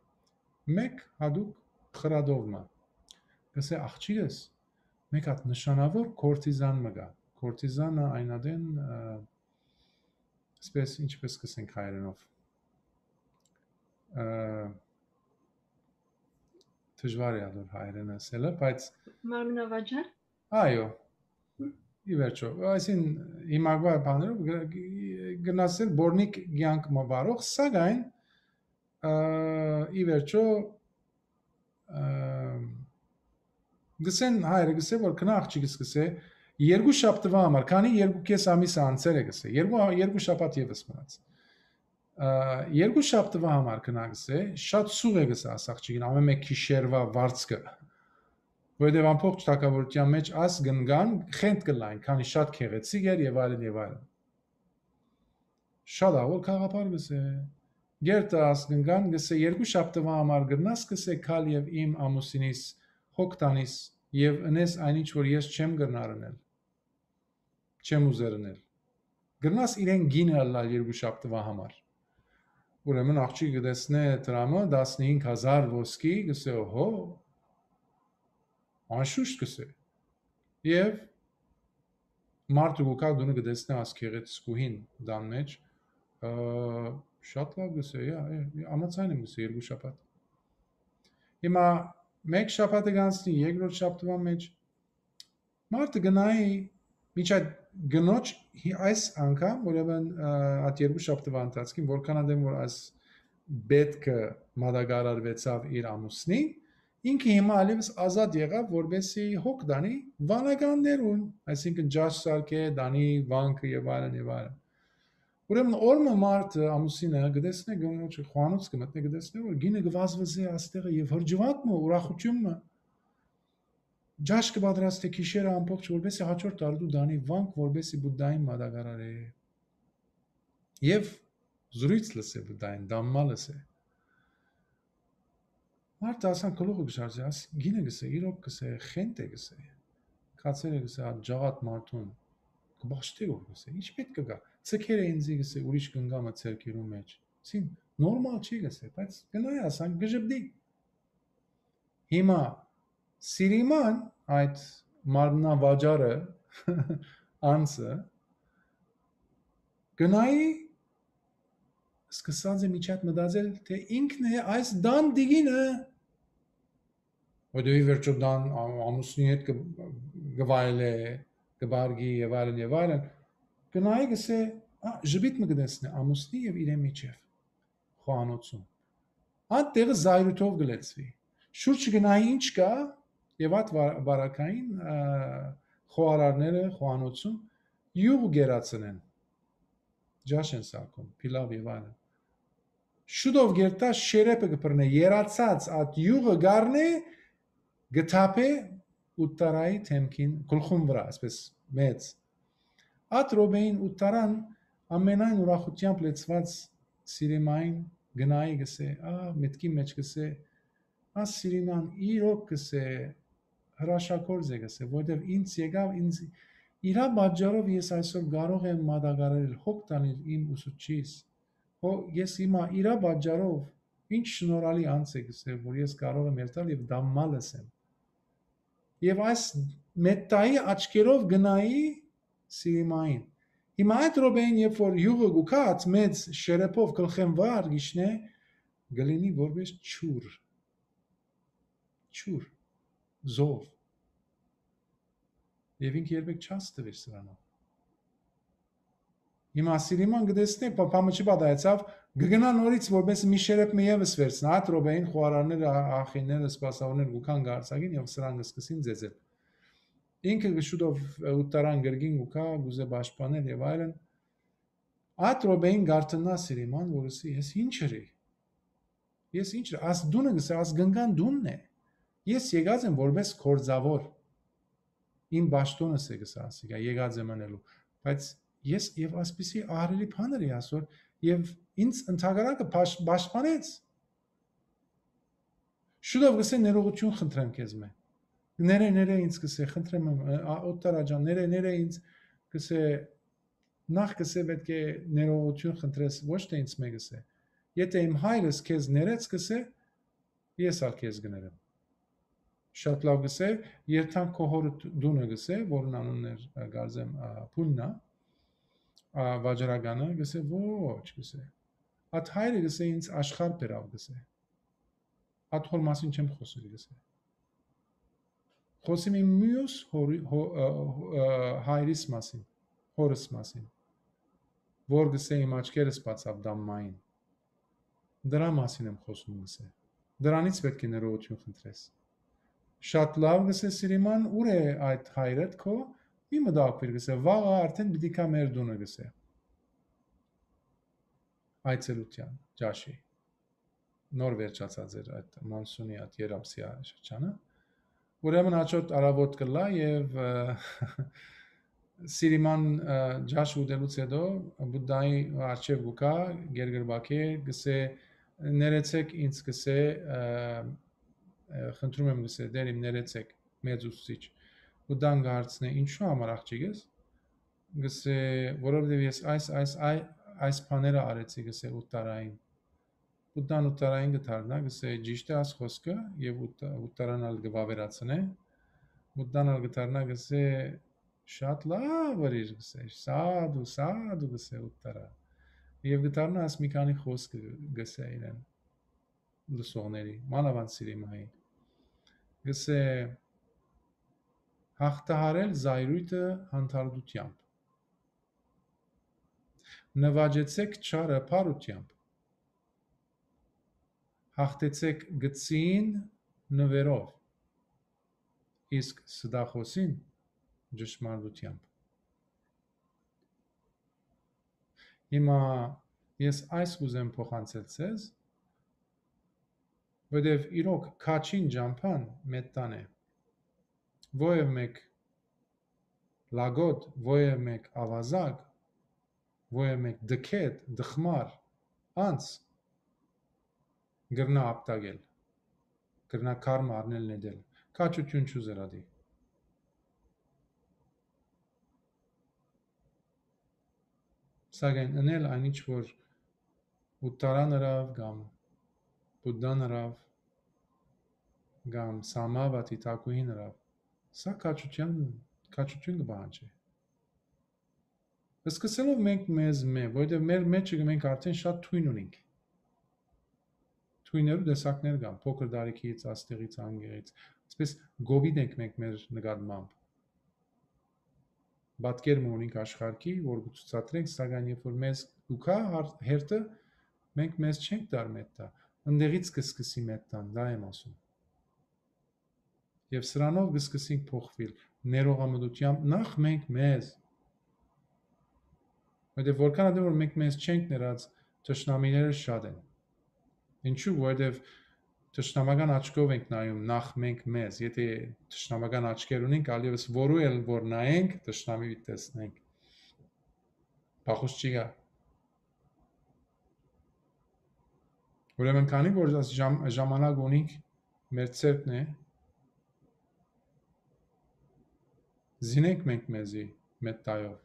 մէկ հատուկ խրատով մը։ Կ'ըսէ, «Աղջիկս, մէկ հատ նշանաւոր քորտիզան մը կայ»։ Քորտիզանը այն ատեն, ը, այսպես, ինչպես կ'ըսենք հայերէնով, ը, դժուար է ատոր հայերէն ասելը, բայց Մարմնավաճառ։ Այո, ի վերջոյ, այսին հիմակվա բաներով գ-, գ-, գնացել բորնիկ կյանք մը վարող, սակայն, ը, ի վերջոյ, ը, գսեն, հայրը գսէ, որ գնա աղջիկս, գսէ, երկու շաբթուայ համար, քանի երկու կէս ամիսը անցեր է, գսէ, երկու, երկու շաբաթ եւս մնաց։ Ը, երկու շաբթուայ համար գնա, գսէ, շատ սուղ է, գսէ, աս աղջիկին, ամէն մէկ գիշերուայ վարձքը, որովհետեւ ամբողջ թագաւորութեան մեջ աս կ'ընկան, խենթ կ'ըլլան, քանի շատ գեղեցիկ էր եւ այլն եւ այլն։ Շատ աղօր գաղափար, գսէ։ Գերտը աս կ'ընկան, գսէ, երկու շաբթուայ համար կրնաս, գսէ, գալ եւ իմ ամուսինիս հոգ տանիս եւ ընես այն ինչ որ ես չեմ կրնար ընել, չեմ ուզեր ընել։ Կրնաս իրեն գինը ըլլալ երկու շաբթուայ համար։ Ուրեմն աղջիկը կը տեսնէ դրամը, տասնհինգ հազար ոսկի, գսէ, «Օհո, անշուշտ», գսէ։ Եւ մարդը կու գայ տունը, կը տեսնէ աս գեղեցկուհին տան մեջ, ը, շատ լաւ, գսէ, «Յա, յա, յա, ամացայն եմ», գսէ, «երկու շաբաթ»։ Հիմա մէկ շաբաթը կ'անցնի, երկրորդ շաբթուան մեջ մարդը գնայի, միջա կնոջ հի-, այս անգամ, ուրեմն, ը, այդ երկու շաբթուան ընթացքին, որքան ատեն որ այս պէտքը մատակարարուեցաւ իր ամուսնին, ինքը հիմա ալեւս ազատ եղաւ, որպեսզի հոգ տանի վանականներուն, այսինքն ճաշ սարքէ, տանի վանքը եւ այլն եւ այլն։ Ուրեմն օր մը մարդը, ամուսինը, կը տեսնէ կնոջը, խոհանոց կը մտնէ, կը տեսնէ, որ գինը կը վազվզէ աստեղը եւ հրճուանք մը, ուրախութիւն մը, ճաշ կը պատրաստէ գիշերը ամբողջ, որպեսզի հաջորդ արտու տանի վանք, որպեսզի Բուդդային մատակարարէ։ Եւ զրոյց լսէ Բուդդային, դամմա լսէ։ Մարդը ասան գլուխը կը շարժէ, աս գինը, գսէ, իրոք, գսէ, խենթ է, գսէ, կացեր է, գսէ, այդ ջաղատ մարդուն, կը պաշտէ որ, գսէ, ինչ պէտք կը գայ, ցկեր է ինձի, գսէ, ուրիշ կնգամը ձեռքերու մեջ, սին նորմալ չի, գսէ, բայց գնայ ասան, կը ժպտի։ Հիմա Սիրիման այդ մարմնավաճառը անձը գնայի սկսած է միջատ մտածել, թե ինքն է այս դան տիկինը, որտեղ ի վերջոյ դան ա-, ամուսնի հետ կը, կը վայելէ, կը բարգի եւ այլն եւ այլն, գնայի գսէ, ա, ժպիտ մը կտեսնէ ամուսնի եւ իրեն միջեւ խոհանոցում։ Այդ տեղը զայրութով կը լեցուի։ Շուրջը գնայի ինչ կայ, եւ այդ վար-, վարակային, ա, խոհարարները խոհանոցում յուղ կերացնեն, ճաշ են սարքում, փիլաւ եւ այլն։ Շուտով գերտա շերեփը կը բռնէ, երացած այդ յուղը կ'առնէ, կը թափէ Ուտտարայի դէմքին, գլխուն վրայ, այսպես մեծ։ Այդ րոպեին Ուտտարան Ամենայն ուրախութեամբ լեցուած Սիրիմային գնայի գսե, ա, մտքի մեջ գսե, ա, Սիրիման իրոք գսե, հրաշագործ է գսե, որտեւ ինձ եկաւ, ինձ իրա պատճառով ես այսօր կարող եմ մատակարարել, հոգ տանիլ իմ ուսուցչիս։ Հո, ես հիմա իրա պատճառով ինչ շնորհալի անձ է գսե, որ ես կարող եմ երթալ եւ դամմալ ըսեմ։ Եւ այս մետտայի աչքերով գնայի Սիրիմային։ Հիմա այդ րոպեին, երբ որ յուղը գուքած մեծ շերեփով գլխեն վար գիշնէ, գլինի որպես չուր, չուր, զով։ Եվ ինքը երբեք չհասցուիր սրանով։ Հիմա Սիրիման կտեսնէ, պապամը չի պատահեցավ, կգնա նորից, որպես մի շերեփ մը ևս վերցնա։ Այդ րոպեին խոհարարները, ա-, ախիները, սպասավորները կուքան գարցակին եւ սրան կսկսին ձեզել։ Ինքը կշուտով, ը, ուտտարան կրկին կուքա, գուզե պաշտպանել եւ այլն։ Այդ րոպեին գարտնա Սիրիման, որ ըսի, «Ես ինչ ըրի։ Ես ինչ ըրի։ Աս դունը գսե, աս գնկան դունն է։ Ես եկած եմ որպես կորձավոր։ Իմ պաշտոնս է», գսա ասիկա, «եկած եմ անելու։ Բայց ես եւ ասպիսի ահռելի բան ըրի այսօր, եւ ինձ ընդհակառակը պաշ-, պաշտպանեց»։ Շուտով գսե, «Ներողություն խնդրեմ քեզմէ»։ «Ներե, ներե ինձ», գսե, «խնդրեմ, ը, ա, Օտտարա ջան, ներե, ներե ինձ», գսե, «նախ», գսե, «պետք է ներողություն խնդրես, ոչ թե ինձ մէ», գսե։ «Եթե իմ հայրս քեզ ներեց», գսե, «ես ալ քեզ կներեմ»։ «Շատ լաւ», գսե, «երթանք քո հօրդ դունը», գսե, որուն անունն էր, ա, կարծեմ, ա, Փուննա, ա, վաճառականը, գսե, «Ոչ», գսե, «ատ հայրը», գսե, «ինձ աշխարհ բերաւ», գսե, «ատ հոր մասին չեմ խօսիր», գսե, «խօսիմ իմ միւս հորի-, հո-, ը, ը, հայրիս մասին, հորս մասին, որ», գսե, «իմ աչքերս բացաւ դամմային։ Դրա մասին եմ խօսում», գսե, «դրանից պետք է ներողություն խնդրես»։ «Շատ լաւ», գսե Սիրիման, «ուր է այդ հայրդ քո, մի մտահոգուիր», գսե, «վաղը արդէն պիտի գայ մեր դունը», գսե, այցելութեան, ճաշի։ Նոր վերջացած էր այդ Մոնսունի, այդ Երապսիա շրջանը։ Ուրեմն հաջորդ առավոտ կլա եւ, ը, Սիրիման, ը, ճաշ ուտելուց հետո Բուդդայի առջեւ գուքա, գերգրբակե, գսե, «Ներեցեք ինձ», գսե, ը, ը, «խնդրում եմ», գսե, «Տեր իմ, ներեցեք, մեծ ուսուցիչ»։ Բուդդան կհարցնէ, «Ինչու համար, աղջիկս»։ Գսե, «Որովհետեւ ես այս, այս, այ-, այս բաները արեցի», գսե, «Ուտտարային»։ Բուդդան Ուտտարային կը դառնայ, գսէ, «Ճիշդ է աս խօսքը», եւ Ուտտա-, Ուտտարան ալ կը վաւերացնէ։ Բուդդան ալ կը դառնայ, գսէ, «Շատ լաւ ըրիր», գսէ, «Սադու, սադու», գսէ Ուտտարա։ Եւ կը դառնայ աս մի քանի խօսքը, գսէ իրեն լսողների, մանաւանդ Սիրիմայի։ Գսէ, «Հաղթահարել զայրույթը հանդարտութեամբ։ Նուաճեցեք չարը բարութեամբ։ Հաղթեցեք գցին նվերով, իսկ ստախոսին՝ ճշմարտութեամբ»։ Հիմա ես այս կուզեմ փոխանցել ձեզ, որտեւ իրոք քաչին ճամբան մետտան է։ Ովեւ մէկ լագոտ, ովեւ մէկ աւազակ, ովեւ մէկ դքետ, դխմար անձ կրնայ ապտակել, կրնայ քարմը առնել նետել, քաչութիւն չուզեր ատի։ Սակայն ընել այն ինչ որ Ուտտարան ըրաւ կամ Բուդդան ըրաւ կամ Սամավատի թագուհին ըրաւ, սա քաչութեան, քաչութիւն կը պահանջէ։ Սկսելով մենք մեզմէ, որովհետեւ մեր մէջը մենք արդեն շատ թոյն ունենք։ Թոյներու տեսակներ կան, փոքր տարիքից, աստեղից, անգեղից։ Այսպես գովիտ ենք մենք մեր նկատմամբ։ Պատկեր մը ունենք աշխարհի, որ կը ցուցադրենք, սակայն երբ որ մեզ կուքա հարդ-, հերթը, մենք մեզ չենք տար մետտա։ Ընդեղից կը սկսի մետտան, դա եմ ասում։ Եւ սրանով կը սկսենք փոխվել, ներողամտությամբ նախ մենք մեզ։ Որտեւ որքան ատեն որ մենք մեզ չենք ներած, թշնամիները շատ են։ Ինչու՞, որովհետեւ թշնամական աչքով ենք նայում նախ մենք մեզ, եթե թշնամական աչքեր ունենք, ալ եւս որու էլ որ նայենք, թշնամի պիտի տեսնենք։ Պախուս չի գա։ Ուրեմն քանի որ այս ժամ-, ժամանակ ունինք մեր ցերկն է, զինենք մենք մեզի մեթտայով։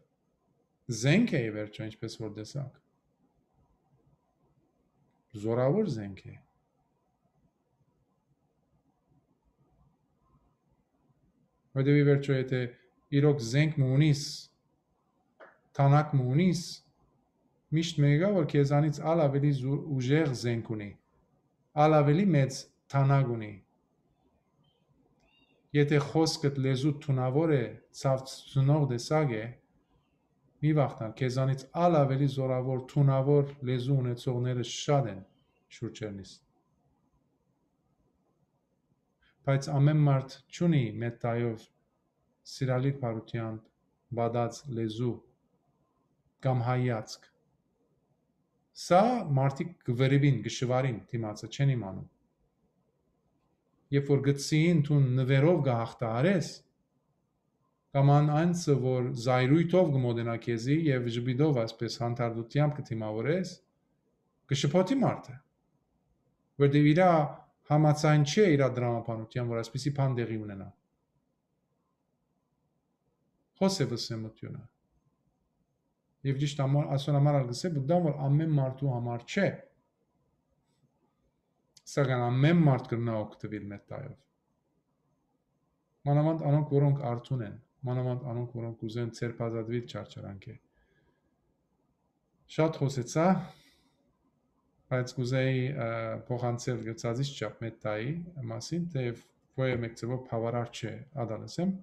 Զենք է, ի վերջո, ինչպես որ տեսաք։ Զորավոր զենք է։ Որտեւ, ի վերջո, եթե իրոք զենք մը ունիս, թանակ մը ունիս, միշտ մեկը, որ քեզանից ալ ավելի զու-, ուժեղ զենք ունի, ալ ավելի մեծ թանակ ունի։ Եթե խոսքդ, լեզուդ թունաւոր է, ցաւցնող տեսակ է, մի վախտան, քեզանից ալ ավելի զորաւոր, թունաւոր լեզու ունեցողները շատ են շուրջերնիս։ Բայց ամեն մարդ չունի մեթտայով սիրալիր բարութեամբ պատած լեզու կամ հայացք։ Սա մարդիկ կը վրիպին, կը շուարին դիմացը, չեն իմանում։ Երբ որ գցին դուն նվերով կը հաղթահարես, կամ ան անձը, որ զայրույթով կը մոտենայ քեզի եւ ժպիտով, այսպես, հանդարտութեամբ կը դիմաւորես, կը շփոթի մարդը, որտեւ իրա համաձայն չէ իրա դրամաբանութեան, որ այսպիսի բան տեղի ունենայ։ Հոս է վսեմութիւնը։ Եւ ճիշդ ամոր, ասոր համար ալ կսե, Բուդդան, որ ամեն մարդու համար չէ, սակայն ամեն մարդ կրնայ օգտվել մեթտայով։ Մանաւանդ անոնք, որոնք արթուն են, մանաւանդ անոնք, որոնք կուզեն ձերբազատվել չարչարանքէ։ Շատ խօսեցայ, բայց կուզեի, ը, փոխանցել գծածից չափ մեթտայի մասին, թեև ոյ մէկ ձեւով բաւարար չէ, ադալս եմ,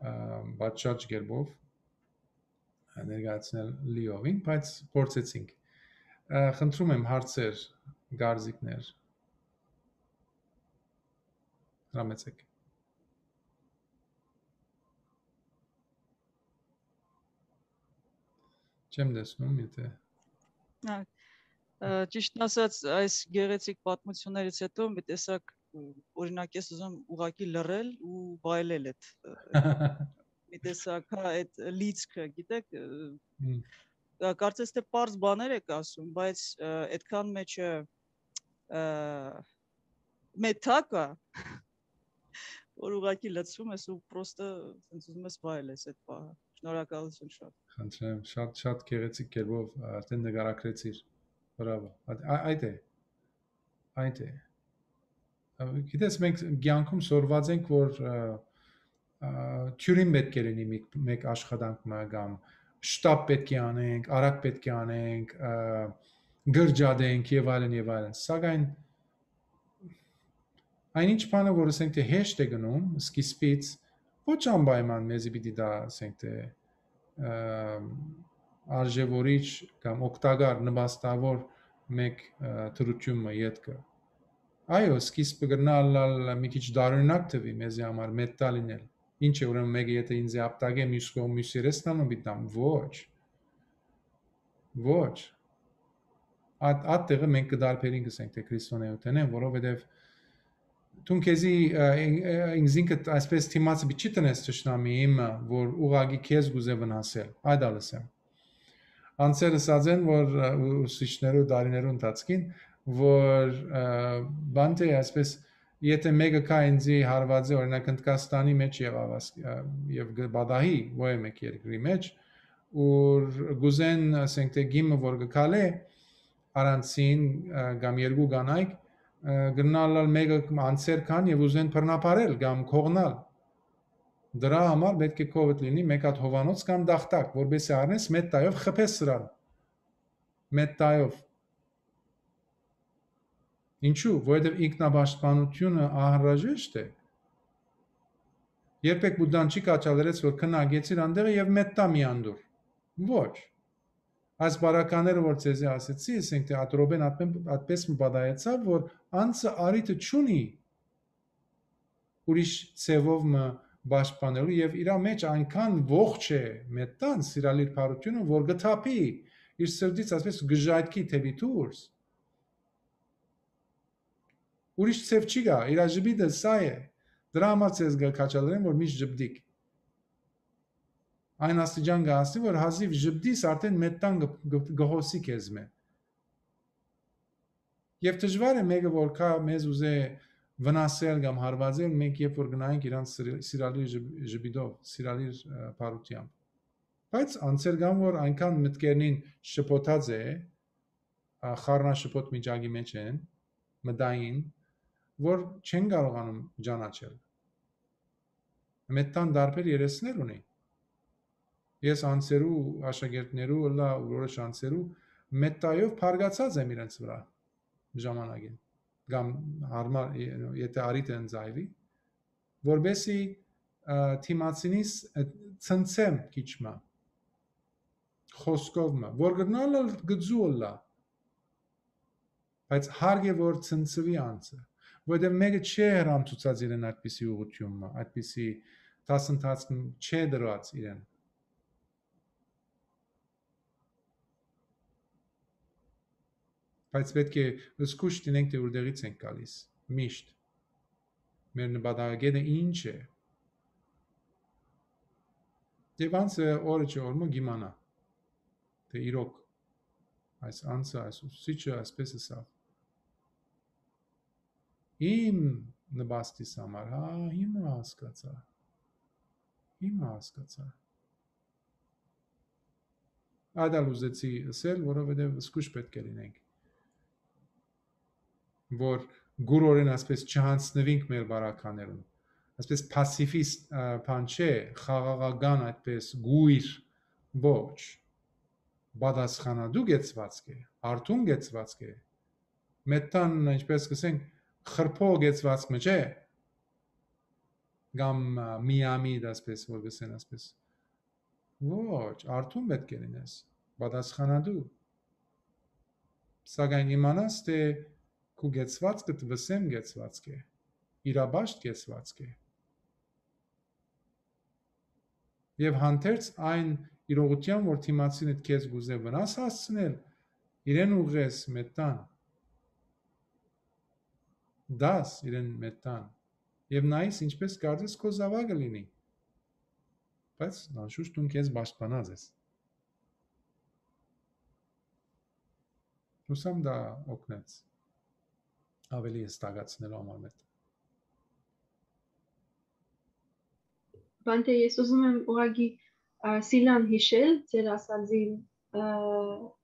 ը, պատշաճ կերպով ներկայացնել լիովին, բայց փորձեցինք։ Ը, խնդրում եմ հարցեր, կարծիքներ, հրամեցեք։ Չեմ տեսնում, եթե Հա, ը, ճիշդն ասած, այս գեղեցիկ պատմություններից հետո մի տեսակ, ը, օրինակ, ես ուզում ուղղակի լռել ու վայելել այդ, ը, մի տեսակ, հա, այդ լիցքը, գիտեք, ը, Հմ։ ը, կարծես թե պարզ բաներ եք ասում, բայց, ը, այդքան մեջը, ը, մեթա կա, որ ուղղակի լցվում ես ու պրոստը սենց ուզում ես վայելես այդ պահը։ Շնորհակալություն շատ։ Խնդրեմ, շատ, շատ գեղեցիկ կերպով արդեն նկարագրեցիր։ Բրավո։ Այդ, ա-, այդ է։ Այդ է։ Ա, գիտես, մենք կյանքում սորված ենք, որ, ա, ա, թիւրին պէտք է լինի մեկ, մեկ աշխատանք մը կամ շտապ պէտք է անենք, արագ պէտք է անենք, ա, գրջատենք եւ այլն եւ այլն։ Սակայն այն ինչ բանը, որ ասենք թե հեշտ է գնում, սկիզբից ոչ անպայման մեզի պիտի դա, ասենք թե, ը, արժեվորիչ կամ օգտակար, նպաստավոր մեկ, ը, դրություն մը ետքը։ Այո, սկիզբը կրնա ըլլալ մի քիչ դարօրինակ թվի մեզի համար, մեթտա լինել։ Ինչ է, ուրեմն մեկը եթե ինձ է ապտակե, մյուս կողմ, մյուս երեսն անում պիտի տամ, ոչ։ Ոչ։ Այդ, այդ տեղը մենք կդարբերենք, ասենք, թե քրիստոնեութենէն, որովհետև դուն քեզի, ը, ին-, ը, ինքզինքդ այսպես դիմացը պիտի չի տնես թշնամիին մը, որ ուղղակի քեզ կուզե վնասել, այդ ալ ըսեմ։ Անձեր ըսած են, որ, ը, ու-, ուսուցիչներու դարիներու ընթացքին, որ, ը, բանտե այսպես, եթե մեկը կա ինձի հարվածի, օրինակ, Հնդկաստանի մեջ եղավ աս-, ը, և կը պատահի, ոյ մէկ երկրի մեջ, ուր կուզեն, ասենք, թե գիմը որ կը քալէ, առանցին, ը, կամ երկու կանայք, ը, կրնալալ մեկը անցեր քան և ուզեն բռնապարել կամ կողնալ։ Դրա համար պէտք է քովդ լինի մէկ հատ հովանոց կամ դախտակ, որպեսզի առնես մեթտայով խփես սրան։ Մեթտայով։ Ինչու՞, որովհետև ինքնապաշտպանությունը անհրաժեշտ է։ Երբեք Բուդդան չի կաչալերեց, որ քնագեցիր անդեղը և մեթտա մի անդուր։ Ոչ։ Այս բարակաները, որ ձեզի ասեցի, ասենք, թե ատրոպեն ատմեն-, այդպես մը պատահեցավ, որ անձը արիթը չունի ուրիշ ձևով մը պաշտպանելու, և իրա մեջ այնքան ողջ է մեթտան, սիրալիր բարությունը, որ կը թափի իր սրտից, այսպես, գժայթքի դեպի դուրս։ Ուրիշ ձև չի գա, իրա ժպիտը սա է։ Դրա համար ձեզ կը քաջալերեմ, որ միշտ ժպտիք։ այն աստիճան կը հասնի, որ հազիւ ժպտիս, արդէն մետան կը, կը, կը հոսի քեզմէ։ Եւ դժուար է մէկը, որ կայ մեզ ուզէ վնասել կամ հարվածել, մենք երբ որ գնայինք իրանց սիրալիր ժպիտով, սիրալիր բարութեամբ։ Բայց անձեր կան, որ այնքան մտքերնին շփոթած է, խառնաշփոթ միջակի մեջ են, մտային, որ չեն կարողանում ճանաչել։ Մետան տարբեր երեսներ ունի։ Ես անձերու, աշակերտներու, ըլլայ որոշ անձերու մետայով փարգացած եմ իրենց վրայ ժամանակին, կամ հարմար, եթե առիթը ընձայվի, որպեսզի դիմացինիս ցնցեմ քիչ մը, խոսքով մը, որ կրնալ ալ գծու ըլլայ, բայց հարգ է որ ցնցուի անձը, որովհետեւ մէկը չի հրամցուցած իրեն այդպիսի ուղղութիւն մը, այդպիսի դասընթացք չէ դրած իրեն։ Բայց պէտք է զգուշ դինենք, թէ որտեղից ենք գալիս, միշտ։ Մեր նպատակագետը ինչ է։ Եւ անձը օրը չէ օր մը կիմանայ, թէ իրոք այս անձը, այս ուսուցիչը այսպես ըսաւ։ Իմ նպաստիս համար, հա, հիմա հասկացայ։ Հիմա հասկացայ։ Այդ ալ ուզեցի ըսել, որովհետեւ զգուշ պէտք է լինենք, որ գուրորեն այսպես չհանձնվենք մեր բարականերուն։ Այսպես պասիվիստ, ա, բան չէ, խաղաղական այդպես գույր, ոչ, պատասխանատու կեցվածք է, արթուն կեցվածք է, մետան, ինչպես կսենք, խրբո կեցվածք մը չէ, կամ, ա, միամիտ, այսպես որ կսեն, այսպես։ Ոչ, արթուն պէտք է լինես, պատասխանատու։ Սակայն իմանաս, թէ քու կեցվածքդ վսեմ կեցվածք է, իրապաշտ կեցվածք է։ Եւ հանդերձ այն իրողութեան, որ դիմացինդ քեզ կուզէ վնաս հասցնել, իրեն ուղղես մետան, դաս իրեն մետան, եւ նայես, ինչպես կարծես քո զաւակը լինի, բայց անշուշտ դուն քեզ պաշտպանած ես։ Հուսամ դա օգնեց ավելի հստակացնելու համար մետ։ Բանտե, ես ուզում եմ ուղղակի, ա, Սիլան հիշել, ձեր ասածին, ա,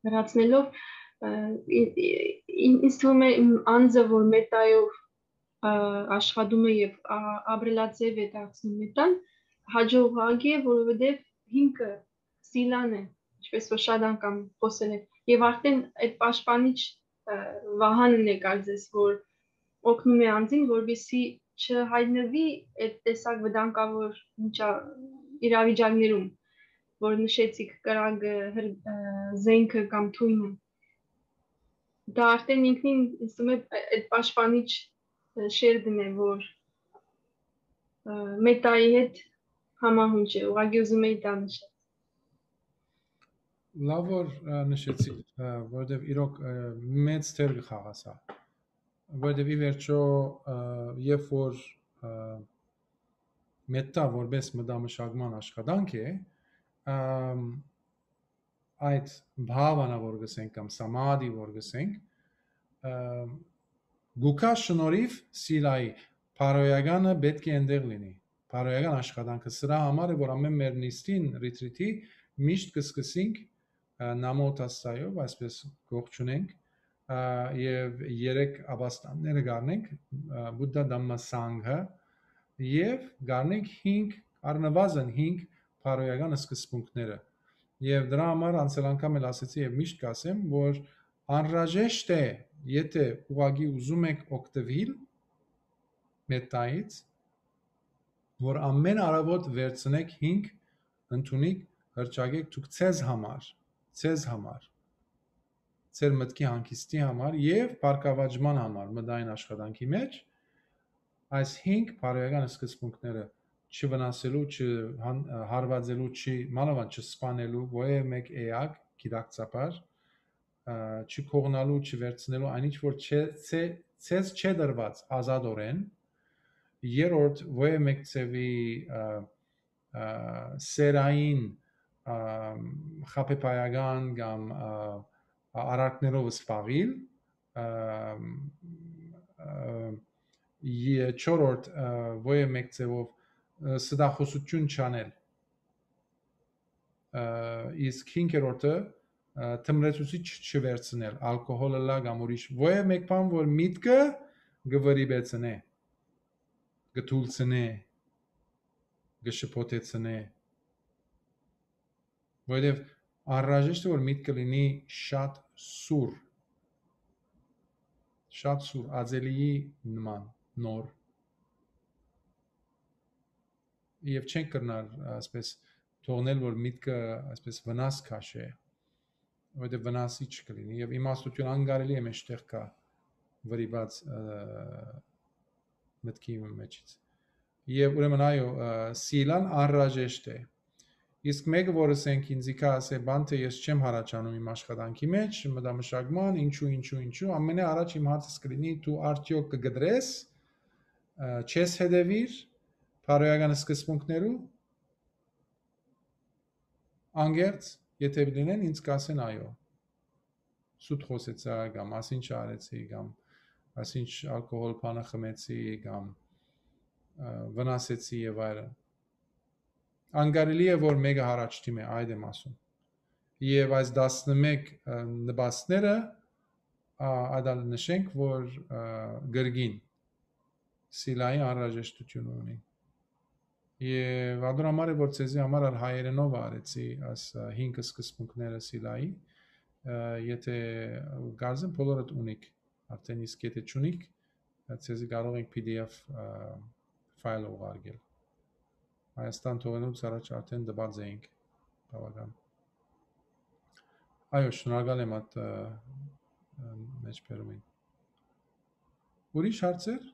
լրացնելով, ա, ին-, ին-, ինձ թվում է իմ անձը, որ մետայով, ա, աշխատում է եւ, ա, ապրելաձև է դարձնում մետան, հաջողուակ է, որովհետեւ հիմքը Սիլան է, ինչպես որ շատ անգամ խոսել է, եւ արդեն այդ պաշտպանիչ, ա, վահանն է կարծես, որ օգնում է անձին, որպեսզի չհայտնվի այդ տեսակ վտանգավոր միջա-, իրավիճակներում, որ նշեցիք, կրակը, հր-, ա, զենքը կամ թույնը։ Դա արդեն ինքնին, ինձ թվում է, այդ պաշտպանիչ, ա, շերտն է, որ, ա, մետայի հետ համահունչ է, ուղղակի ուզում էի դա նշել։ Լավ որ, ա, նշեցիք, ա, որովհետև իրոք, ա, մեծ դեր կը խաղա սա, որովհետև ի վերջո, ա, երբ որ, ա, մետա որպես մտամշակման աշխատանք է, ա, այդ բհավանա որ գսենք կամ սամադի որ գսենք, ա, գուքա շնորհիվ Սիլայի բարոյականը պետք է այնտեղ լինի, բարոյական աշխատանքը։ Սրա համար է, որ ամեն մեր նիստին, ռիթրիթի միշտ կսկսենք, ա, Նամո Թասսայով, այսպես կողջունենք, ա, և երեք աբաստանները գարնենք, ա, Բուդդա Դամմա Սանգհա, և գարնենք հինգ, առնվազն հինգ բարոյական սկզբունքները։ Եվ դրա համար անցել անգամ էլ ասեցի և միշտ կասեմ, որ անհրաժեշտ է, եթե ուղղակի ուզում եք օգտվել մետայից, որ ամեն առավոտ վերցնեք հինգ, ընդունիք, հրճակեք դուք ձեզ համար, ձեզ համար, ձեր մտքի հանգիստի համար և բարգավաճման համար մտային աշխատանքի մեջ, այս հինգ բարոյական սկզբունքները՝ չվնասելու, չհան-, հարվածելու, չի, մանավանդ չսպանելու, որևէ մեկ էակ գիտակցաբար, ա, չկողնալու, չվերցնելու այն ինչ որ չէ, ցե-, ցեզ չէ տրված ազատորեն, երրորդ, որևէ մեկ ձևի, ա, ա, սերային, ը, խաբեբայական կամ, ը, արարքներով զբաղիլ, ը, ը, ե-, չորրորդ, ը, ոեւ մէկ ձեւով, ը, ստախոսութիւն չանել, ը, իսկ հինգերորդը, ը, թմրեցուցիչ չվերցնել, ալկոհոլ ըլլայ կամ ուրիշ ոեւ մէկ բան, որ միտքը կը վրիպեցնէ, կը թուլցնէ, կը շփոթեցնէ, որովհետեւ անհրաժեշտ է, որ միտքը լինի շատ սուր, շատ սուր, ածելիի նման, նոր, եւ չենք կրնար, այսպես, թողնել, որ միտքը, այսպես, վնաս քաշէ, որովհետեւ վնասիչ կը լինի, եւ իմաստութիւն անկարելի է մէջտեղ կայ վրիպած, ը, մտքի մեջից։ Եւ ուրեմն, այո, ը, սիլան անհրաժեշտ է։ Իսկ մէկը, որ ըսենք ինձի կայ, ասէ, բան, թէ ես չեմ հառաչանում իմ աշխատանքի մեջ, մտամշակման, ինչու, ինչու, ինչու, ամենէ առաջ իմ հարցս կը լինի, դու արդեօք կը կտրես, ը, չես հետեւիր բարոյական սկզբունքներու, անկեղծ, եթէ լինեն, ինձ կասեն, այո, սուտ խօսեցայ, կամ ասինչ արեցի, կամ ասինչ ալկոհոլ բանը խմեցի, կամ, ը, վնասեցի եւ այլն։ Անկարելի է, որ մէկը հառաչտի մէ, այդ եմ ասում։ Եւ այս տասնմէկ, ը, նպաստները, ա, ադալ նշենք, որ, ը, կրկին սիլայի անհրաժեշտութիւն ունի։ Եւ ադոր համար է, որ ձեզի համար ալ հայերենով արեցի այս, ը, հինգ սկզբունքները սիլայի, ը, եթէ կարծեմ բոլորդ ունիք, արդեն իսկ եթէ չունիք, ը, ձեզի կարող ենք P D F, ը, ֆայլ ուղարկել։ Հայաստան թողնելուց առաջ արդեն տված էինք բավական։ Այո, շնորհակալ եմ այդ, ը, ը, մեջբերումին։ Ուրիշ հարցեր։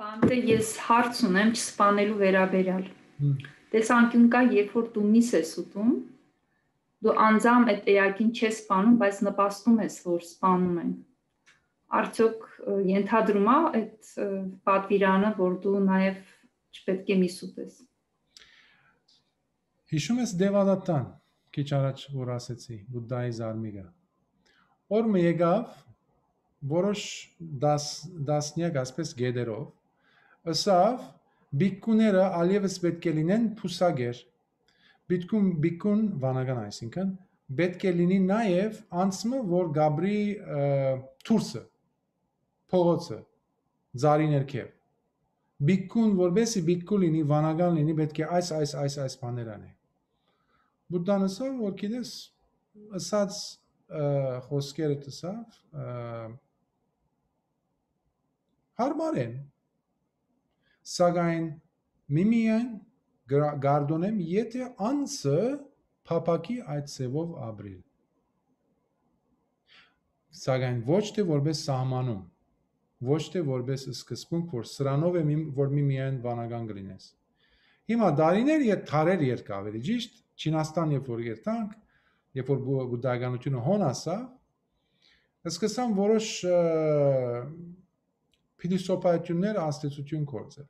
Պանտե, ես հարց ունեմ չսպանելու վերաբերյալ։ Հմ։ Տեսանկիւն կայ, երբ որ դու միս ես ուտում, դու անձամ այդ էակին չես սպանում, բայց նպաստում ես, որ սպանում են։ Արդյոք, ը, ենթադրում ա այդ, ը, պատվիրանը, որ դու նաև չպետք է միս ուտես։ Հիշում ես Դեվադատան, քիչ առաջ որ ասեցի, Բուդդայի զարմիկը։ Օր մը եկաւ, որոշ դաս-, դասնեակ, այսպես գետերով, ըսաւ, բիկկուները ալեւս պէտք է լինեն փուսակեր։ Բիկկուն, բիկկուն վանական, այսինքն, պէտք է լինի նաեւ անցմը, որ գաբրի, ը, թուրսը, փողոցը, ծառի ներքեւ։ Բիկկուն, որպեսի բիկկու լինի, վանական լինի, պէտք է այս, այս, այս, այս բաներ անե։ Բուդդան ըսաւ, որ գիտես, ըսած, ը, խոսքերդ ըսաւ, ը, հարմար են, սակայն միմիայն գրա-, գարդոնեմ, եթէ անձը փափաքի այդ ձևով ապրիլ։ Սակայն ոչ թէ որպես սահմանում, ոչ թէ որպես սկզբունք, որ սրանով է մի-, որ միմիայն վանական կլինես։ Հիմա դարիներ եթ-, դարեր ետք ավելի ճիշտ, Չինաստան երբ որ երթանք, երբ որ բու-, բուդդայականությունը հոն ասա, սկսան որոշ, ը, փիլիսոփայություններ ազդեցություն գործել,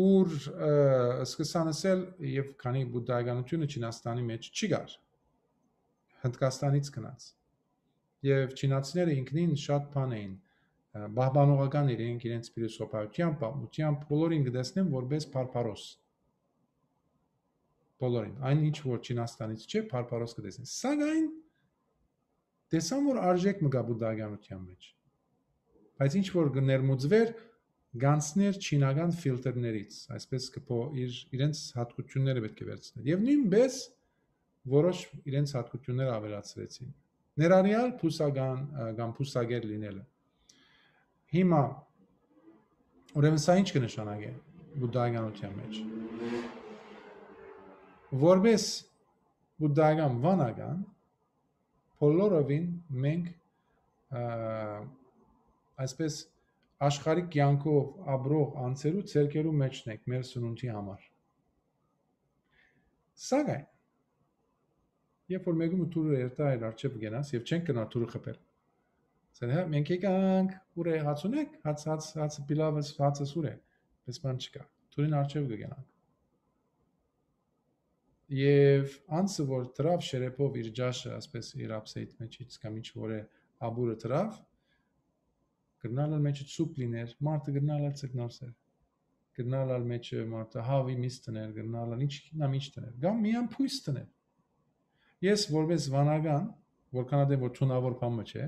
ուր, ը, սկսան ասել, եւ քանի բուդդայականությունը Չինաստանի մեջ չի գար, Հնդկաստանից գնաց, եւ չինացիները ինքնին շատ բան էին, ը, պահպանողական իրենք իրենց փիլիսոփայությամբ, պատմությամբ, բոլորին կտեսնեն որպես բարբարոս, բոլորին, այն ինչ որ Չինաստանից չէ, բարբարոս կտեսնեն, սակայն տեսան, որ արժեք մը կա բուդդայականության մեջ, բայց ինչ որ կներմուծվեր, գանցներ չինական ֆիլտրներից, այսպես կը փո-, իր, իրենց հատկությունները պէտք է վերցներ։ Եվ նոյնպես որոշ իրենց հատկությունները ավելացրեցին, ներառյալ փուսական, ը, կամ փուսակեր լինելը։ Հիմա, ուրեմն սա ինչ կը նշանակէ բուդդայականության մեջ։ Որպես բուդդայական վանական, բոլորովին մենք, ը, այսպես աշխարհիկ կյանքով ապրող անձերու ձեռքերու մեջն ենք մեր սնունդի համար։ Սակայն, երբ որ մեկը մը թուրը երթայ իր առջեւ կենաս եւ չենք գնա թուրը խփել, ասեն, հա, մենք եկանք, ուր է, հաց ունեք, հաց, հաց, հաց, պիլավս, հացս ուր է, պես բան չկա։ Թուրին արջեւ կը գնանք։ Եւ անցը որ դրաւ շերեփով իր ջաշը, ասպես իր upside մեջ, ինչ կամ ինչ որ է, աբուրը դրաւ, կրնալ ալ մեջը սուպ լիներ, մարդը կրնալ ալ ցկնորսեր, կրնալ ալ մեջը մարդը հավի միս տներ, կրնալ ալ ինչ, նամ ինչ տներ, կամ միան փույս տներ։ Ես որպես վանական, որքան ատեն որ թունավոր բան մը չէ,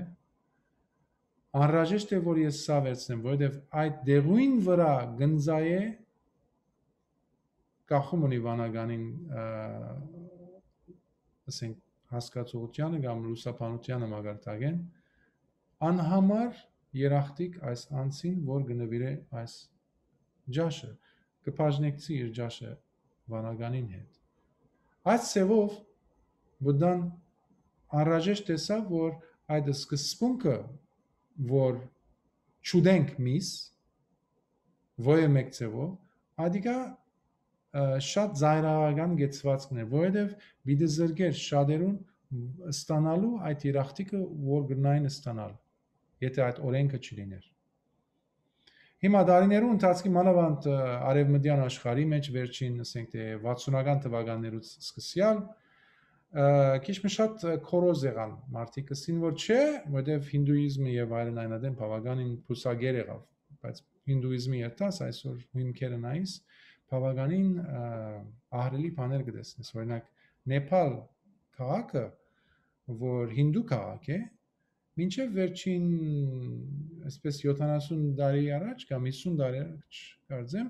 անհրաժեշտ է որ ես սա վերցնեմ, որովհետեւ այդ դեղույն վրա կ'ընծայէ կախում ունի վանականին, ը, ասենք, հասկացողությանը կամ լուսաբանությանը մակարդակէն, անհամար երախտիկ այս անձին, որ կը նուիրէ այս ջաշը, կը բաժնեկցի իր ջաշը վանականին հետ։ Այս ձևով Բուդդան անհրաժեշտ տեսաւ, որ այդ սկզբունքը, որ չուտենք միս, ոյը մեկ ձևով, ադիկա, ը, շատ զայրահական գեցվածքն է, որովհետև պիտի զրկեր շատերուն ստանալու այդ երախտիկը, որ կրնային ստանալ, եթե այդ օրենքը չլիներ։ Հիմա դարիներու ընթացքի մանավանդ, ը, արևմտյան աշխարհի մեջ վերջին, ասենք թե, վաթսունական թվականներուց սկսեալ, ը, քիչ մը շատ, ը, քորոզ եղան մարդիկ, ըսին որ չէ, որովհետև հինդուիզմը եւ այլն այն ադեն բավականին բուսակեր եղավ, բայց հինդուիզմի երթաս այսօր հիմքերը նայիս, բավականին, ը, ահռելի բաներ կտեսնես։ Օրինակ, Նեփալ քաղաքը, որ հինդու քաղաք է, մինչեւ վերջին, այսպես, յոթանասուն տարի առաջ կամ հիսուն տարի առաջ, կարծեմ,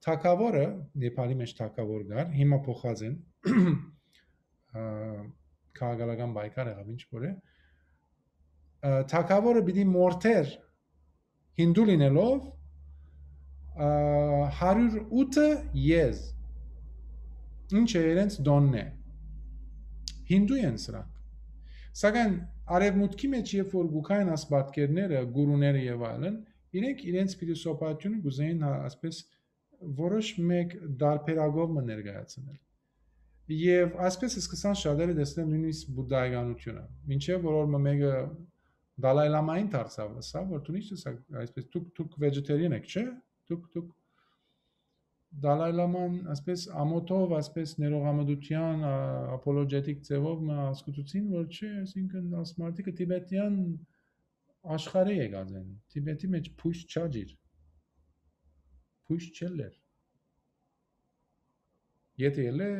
թագավորը, Նեփալի մեջ թագավոր կար, հիմա փոխած են, ը, քաղաքական պայքար եղավ, ինչ որ է, ը, թագավորը պիտի մորթեր հինդու լինելով, ը, հարյուր ութը եզ, ինչ է իրենց դոնն է։ Հինդու են սրանք։ Սակայն արևմուտքի մեջ, երբ որ գուքային աս պատկերները, գուրուները եւ այլն, իրենք իրենց փիլիսոփայությունը կուզեին, հա, այսպես, որոշ մեկ դարբերակով մը ներկայացնել։ Եվ այսպես սկսան շատերը տեսնել նույնիսկ բուդդայականությունը։ Մինչեւ որ օր մը մեկը Դալայ Լամային դարձավ, ասա, որ դու ինչ ես, այսպես, դուք, դուք vegetarian եք, չէ՞։ Դուք, դուք Դալայ Լաման, այսպես, ամոթով, այսպես, ներողամտության, ա, apologetic ձևով մը հասկացուցին, որ չէ, այսինքն, աս մարդիկը Տիբետյան աշխարհէ եկած են։ Տիբետի մեջ փույս չա ջիր։ Փույս չելլեր։ Եթե ելլէ,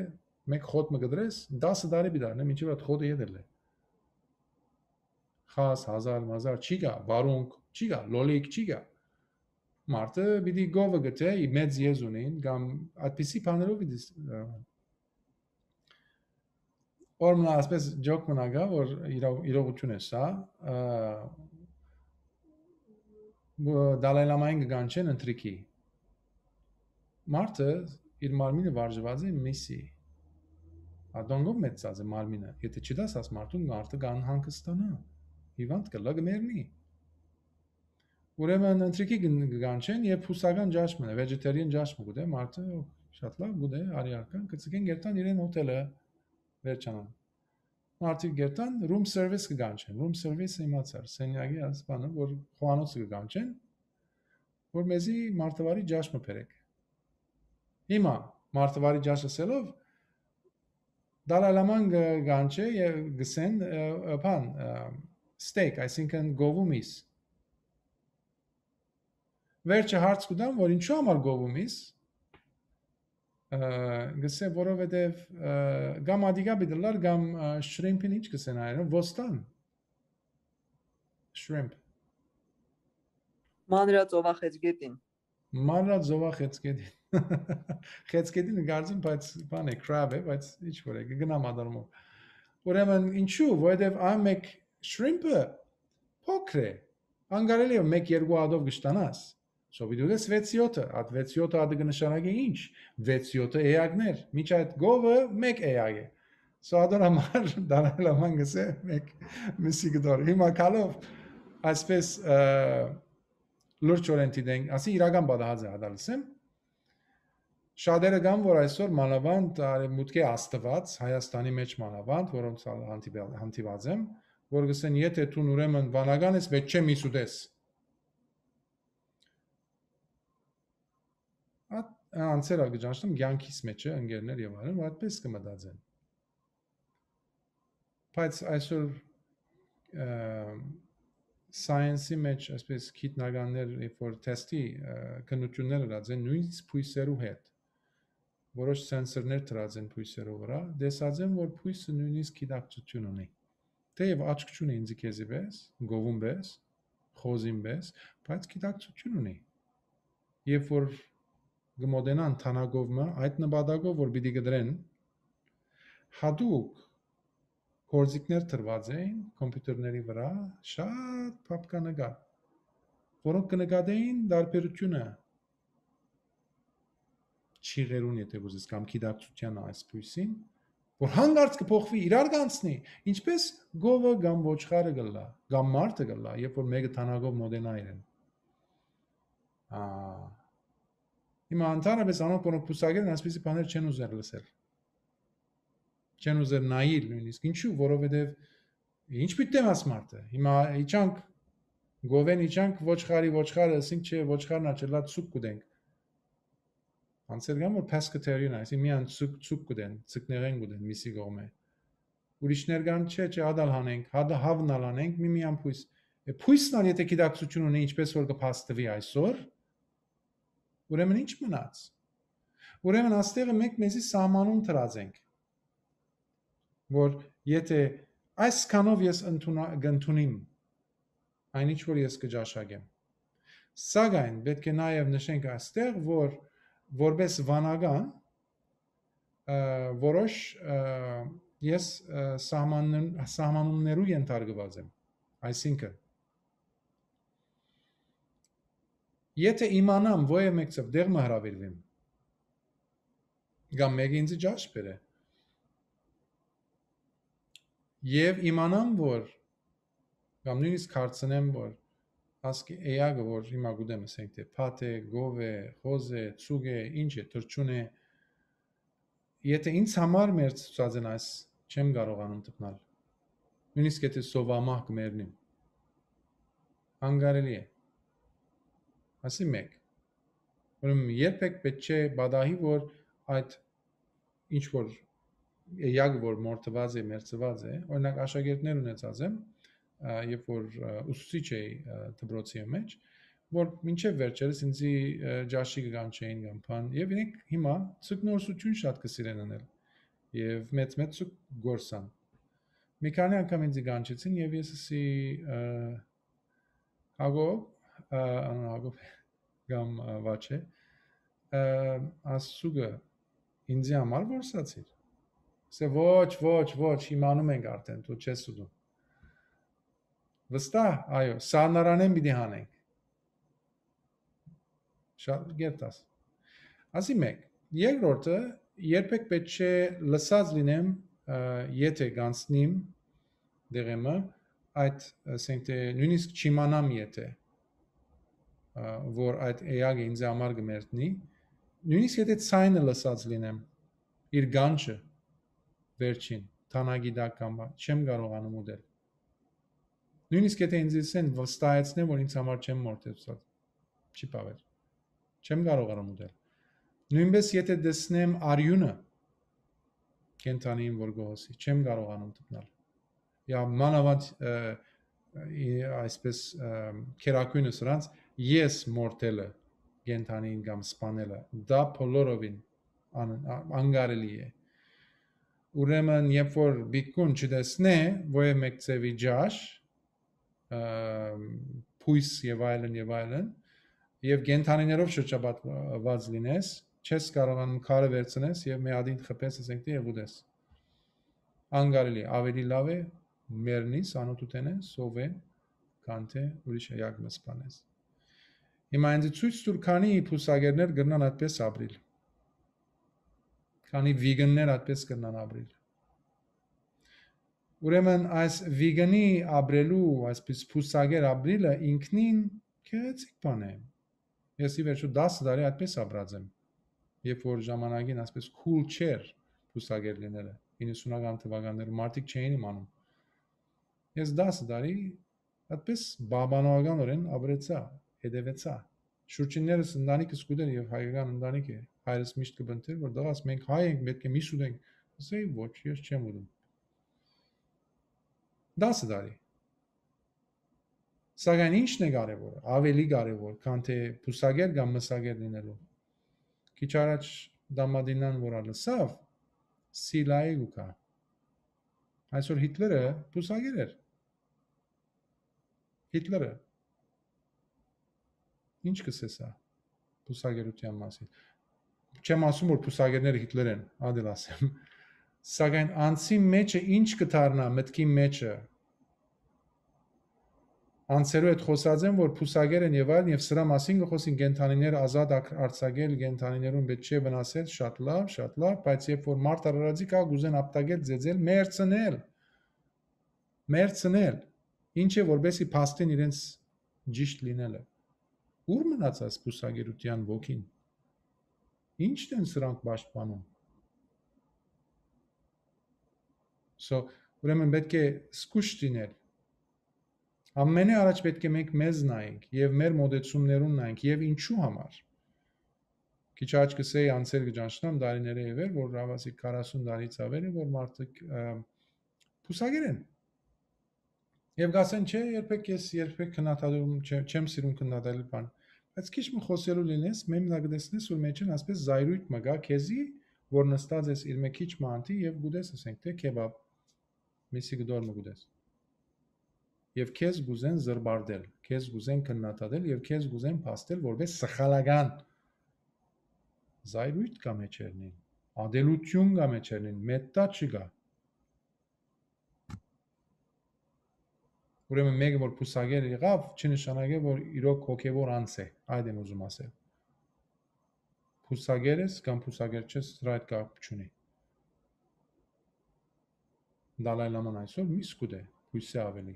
մեկ խոտ մը կդրես, տասը տարի պիտի առնէ, մինչեւ այդ խոտը ետ ելլէ։ Խազ, հազար, մազար, չի գա, վարունգ, չի գա, լոլիկ, չի գա։ Մարդը պիտի գովը գտե, ի մեծ եզ ունին, կամ այդպիսի բաներով պիտի ս-, ը, օրմնա, այսպես ջոկ մնա գա, որ իրավ-, իրողություն է սա, ը, բ-, Դալայ Լամային կգանչեն ընթրիքի։ Մարդը իր մարմինը վարժված է միսի։ Ադոնգով մեծած է մարմինը։ Եթե չդաս աս մարդուն, մարդը կան հանգստանա, հիվանդ կլա, կմեռնի։ Ուրեմն ընթրիքի կն-, կգանչեն եւ բուսական ջաշ մնա, vegetarian ջաշ մը գուտե, մարդը շատ լավ գուտե, արի արքան, կցկեն գերտան իրեն հոթելը վերջանան։ Մարդիկ գերտան, room service կգանչեն, room service իմացար, սենյակի այս բանը, որ խոհանոցը կգանչեն, որ մեզի մարդավարի ջաշ մը բերեք։ Հիմա մարդավարի ջաշ ասելով, Դալայ Լաման գ-, գանչէ եւ գսեն, ը, ը, բան, ը, steak, այսինքն գովու միս։ Վերջը հարց կու տան, որ ինչու համար գովու միս, ը, գսե, որովհետեւ, ը, կամ ադիգա պիտի լար, կամ, ը, shrimp-ին ինչ գսեն այրը, ոստան։ Shrimp։ Մանրածովախեցգետին։ Մանրածովախեցգետին։ Խեցգետին կարծեմ, բայց բան է, crab է, բայց ինչ որ է, կգնամ ադարմով։ Ուրեմն ինչու, որովհետև այն մեկ shrimp-ը փոքր է, անկարելի է մեկ երկու ադով կշտանաս։ So պիտի ուտես վեց յոթը, այդ վեց յոթը ադը կնշանակի ինչ, վեց յոթը էակներ, միջ այդ գովը մեկ էակ է։ So ադոր համար Դալայ Լաման գսե մեկ միսի կդոր։ Հիմա քալով այսպես, ը, լուրջ օրեն դիտենք, ասի իրական պատահած է, հատալսեմ։ Շատերը կան, որ այսօր մանավանդ արևմուտքի Աստված, Հայաստանի մեջ մանավանդ, որոնց ալ հանդիպել-, հանդիպած եմ, որ գսեն, եթե դուն ուրեմն վանական ես, վեճ չէ միս ուտես։ Այդ, անցեր ալ կը ճանչնամ կեանքիս մէջը, ընկերներ եւ այլն, որ այդպես կը մտածեն։ Բայց այսօր, ը, science-ի մեջ, այսպես գիտնականներ, երբ որ թեստի, ը, քննութիւններ ըրած են, նոյնիսկ բոյսերու հետ, որոշ սենսորներ դրած են բոյսերու վրա, տեսած են, որ բոյսը նոյնիսկ գիտակցութիւն ունի։ Թէեւ աչք չունի ինձի քեզի պէս, գովուն պէս, խոզին պէս, բայց գիտակցութիւն ունի։ Երբ որ կը մոտենան թանագով մը, այդ նպատակով որ պիտի կտրեն, յատուկ գործիքներ դրուած էին կոմպիուտերների վրա, շատ փափկա նկար, որոնք կը նկատեին տարբերութիւնը չիղերուն, եթե կ'ուզես, կամ գիտակցութեան այս բոյսին, որ հանկարծ կը փոխուի, իրար կ'անցնի, ինչպէս գովը կամ ոչխարը կ'ըլլայ, կամ մարդը կ'ըլլայ, երբ որ մէկը թանագով մոտենայ իրեն։ Ա, հիմա ընդհանրապես անոնք, որոնք բուսակեր են, այսպիսի բաներ չեն ուզեր լսել, չեն ուզեր նայել նոյնիսկ։ Ինչու՞, որովհետեւ ինչ պիտի դեմ աս մարդը։ Հիմա իջանք գովեն, իջանք ոչխարի, ոչխարը, ասենք չէ, ոչխարն աչելա, ցուկ կուտենք։ Անցեր կան, որ pescatarian, այսինքն միան ցուկ, ցուկ կուտեն, ցկնեղեն կուտեն միսի կողմէ։ Ուրիշներ կան, չէ, չէ, հատալ հանենք, հատը հավն ալ հանենք, մի միան բոյս։ Է, բոյսն ալ եթե գիտակցութիւն ունի, ինչպես որ կը փաստվի այսօր, ուրեմն ինչ մնաց։ Ուրեմն աստեղը մենք մեզի սահմանում դրած ենք, որ եթե այսքանով ես ընդունա-, կընդունիմ այն ինչ որ ես կը ճաշակեմ։ Սակայն պէտք է նաեւ նշենք այստեղ, որ որպես վանական, ը, որոշ, ը, ես, ը, սահմանն-, սահմանումներու ենթարկուած եմ։ Այսինքն, եթե իմանամ, որ եւ մեկցով դեղ մը հրավիրվեմ, կամ մեկը ինձ ճաշ բերէ, եւ իմանամ, որ, կամ նոյնիսկ հարցնեմ, որ ասկի էակը, որ հիմա գուտեմ, ասենք, թէ փաթ է, գով է, խոզ է, ցուկ է, ինչ է, թռչուն է, եթե ինձ համար մերձ ցուցած են այս, չեմ կարողանում տպնալ։ Նոյնիսկ եթե սովամահ կը մեռնիմ, անկարելի է։ Ասի մեկ։ Ուրեմն երբեք պէտք չէ պատահի, որ այդ ինչ որ էակ, որ մորթուած է, մերձուած է, օրինակ, աշակերտներ ունեցած եմ, ա, երբ որ, ա, ուսուցիչ էի, ա, դպրոցի մեջ, որ մինչեւ վերջերս ինձի, ա, ճաշի կը կանչեին կամ բան, եւ իրենք հիմա ցկնորսութիւն շատ կը սիրեն անել, եւ մեծ-մեծ ցուկ գործան։ Մի քանի անգամ ինձի կանչեցին, եւ ես ասի, ա, Հակոբ, ա, անուն Հակոբ կամ, ա, Վաչե, ա, ասցուկը ինձի համար որսացիր։ Ասե, «Ոչ, ոչ, ոչ, իմանում ենք արդեն, դու չես ուտում»։ Վստահ, այո, սառնարանեն պիտի հանենք։ Շատ գերտաս։ Ասի մեկ։ Երկրորդը, երբեք պետք չէ լսած լինեմ, ա, եթե գանցնիմ դեղեմը, այդ, ասենք թէ, նոյնիսկ չիմանամ եթե, ա, որ այդ էակը ինձ համար կը մերտնի, նոյնիսկ եթե ցայնը լսած լինեմ, իր գանչը, վերջին, թանագի տակ կամ բան, չեմ կարողանում ուտել։ Նոյնիսկ եթե ինձ ասեն, վստահեցնեմ, որ ինձ համար չեմ մորթեցուցած, չի բաւեր։ Չեմ կարողանում ուտել։ Նոյնպես եթե տեսնեմ արիունը, կենդանին որ գոհոսի, չեմ կարողանում տպնալ։ Յա, մանավանդ, ը, ի-, այսպես, ը, քերակույնը սրանց, ես մորթելը, կենդանին կամ սպանելը, դա բոլորովին ան-, ա-, անկարելի է։ Ուրեմն, երբ որ բիկուն չտեսնէ, որ է մեկ ձևի ջաշ, ը, բոյս եւ այլն, եւ այլն, եւ կենդանիներով շրջապատված լինես, չես կարողանում քարը վերցնես եւ մի ադին խփես, ասենք, դե, եւ ուտես։ Անկարելի, ավելի լավ է մեռնես անօթութենէ, սովեն, քան թէ ուրիշ էակ մը սպանես։ Հիմա ինձ ցոյց տուր, քանի բուսակերներ կրնան այդպես ապրիլ, քանի վիգններ այդպես կրնան ապրիլ։ Ուրեմն այս վիգնի ապրելու, այսպես բուսակեր ապրիլը ինքնին գեղեցիկ բան է։ Ես ի վերջո տասը տարի այդպես ապրած եմ, երբ որ ժամանակին այսպես cool չէր բուսակեր լինելը, իննսունական թվականներում մարդիկ չէին իմանում։ Ես տասը տարի այդպես պահպանողականորեն ապրեցա, հետևեցա։ Շուրջիններս ընտանիքս կուտեն եւ հայկական ընտանիք է։ Հայրս միշտ կը բնտեր, որ «դղաս, մենք հայ ենք, պէտք է միս ուտենք»։ Ասէի, «Ոչ, ես չեմ ուտում»։ Դասը տարի։ Սակայն ի՞նչն է կարեւոր, ավելի կարեւոր, քան թե բուսակեր կամ մսակեր լինելու։ Քիչ առաջ Դամատինան որ լսաւ, Սիլայի կու գայ։ Այսօր Հիտլերը բուսակեր էր։ Հիտլերը։ Ի՞նչ կ'ըսես սա բուսակերութեան մասին։ Չեմ ասում, որ բուսակերները Հիտլեր են, ադել ասեմ։ Սակայն անձի մեջը ի՞նչ կը դառնայ, մտքի մեջը։ Անձերու հետ խօսած են, որ բուսակեր են եւ այլն, եւ սրա մասին կը խօսին, կենդանիներ ազատ ակ-, արձակել, կենդանիներուն պէտք չէ վնասել, շատ լաւ, շատ լաւ, բայց երբ որ մարդ արարածի կայ, կ'ուզեն ապտակել, ծեծել, մերցնել, մերցնել, ինչ է որպեսի փաստին իրենց ճիշտ լինելը։ Ո՞ւր մնաց այս բուսակերութեան ոգին։ Ի՞նչն են սրանք պաշտպանում։ So, ուրեմն պէտք է զգոյշ լինել։ Ամենէ առաջ պէտք է մենք մեզ նայենք եւ մեր մոտեցումներուն նայենք, եւ ինչու համար։ Քիչ աջ կ'ըսէի, անձեր կը ճանչնամ, տարիներէ ի վեր, որ աւասի քառասուն տարիից ավել է, որ մարդիկ, ը, բուսակեր են։ Եւ կ'ասեն, չէ, երբեք ես, երբեք քննադատում չեմ, չեմ սիրում քննադատել բան։ Բայց քիչ մը խօսելու լինես, մեմնա կը տեսնես, որ մեջին ասպէս զայրույթ մը կայ քեզի, որ նստած ես իր մէ քիչ մը անտի եւ կ'ուտես, ասենք, թէ քեբաբ, միսի կտոր մը կ'ուտես։ Եւ քեզ կ'ուզեն զրպարտել, քեզ կ'ուզեն քննադատել եւ քեզ կ'ուզեն փաստել որպես սխալական։ Զայրույթ կայ մեջերնին, ադելութիւն կայ մեջերնին, մետտա չկայ։ Ուրեմն մէկը որ բուսակեր եղաւ, չի նշանակէ, որ իրոք հոգեւոր անձ է, այդ եմ ուզում ասել։ Բուսակեր ես կամ բուսակեր չես, սրա հետ կապ չունի։ Դալայ Լաման այսօր միս կ'ուտէ, բոյսէ աւելի։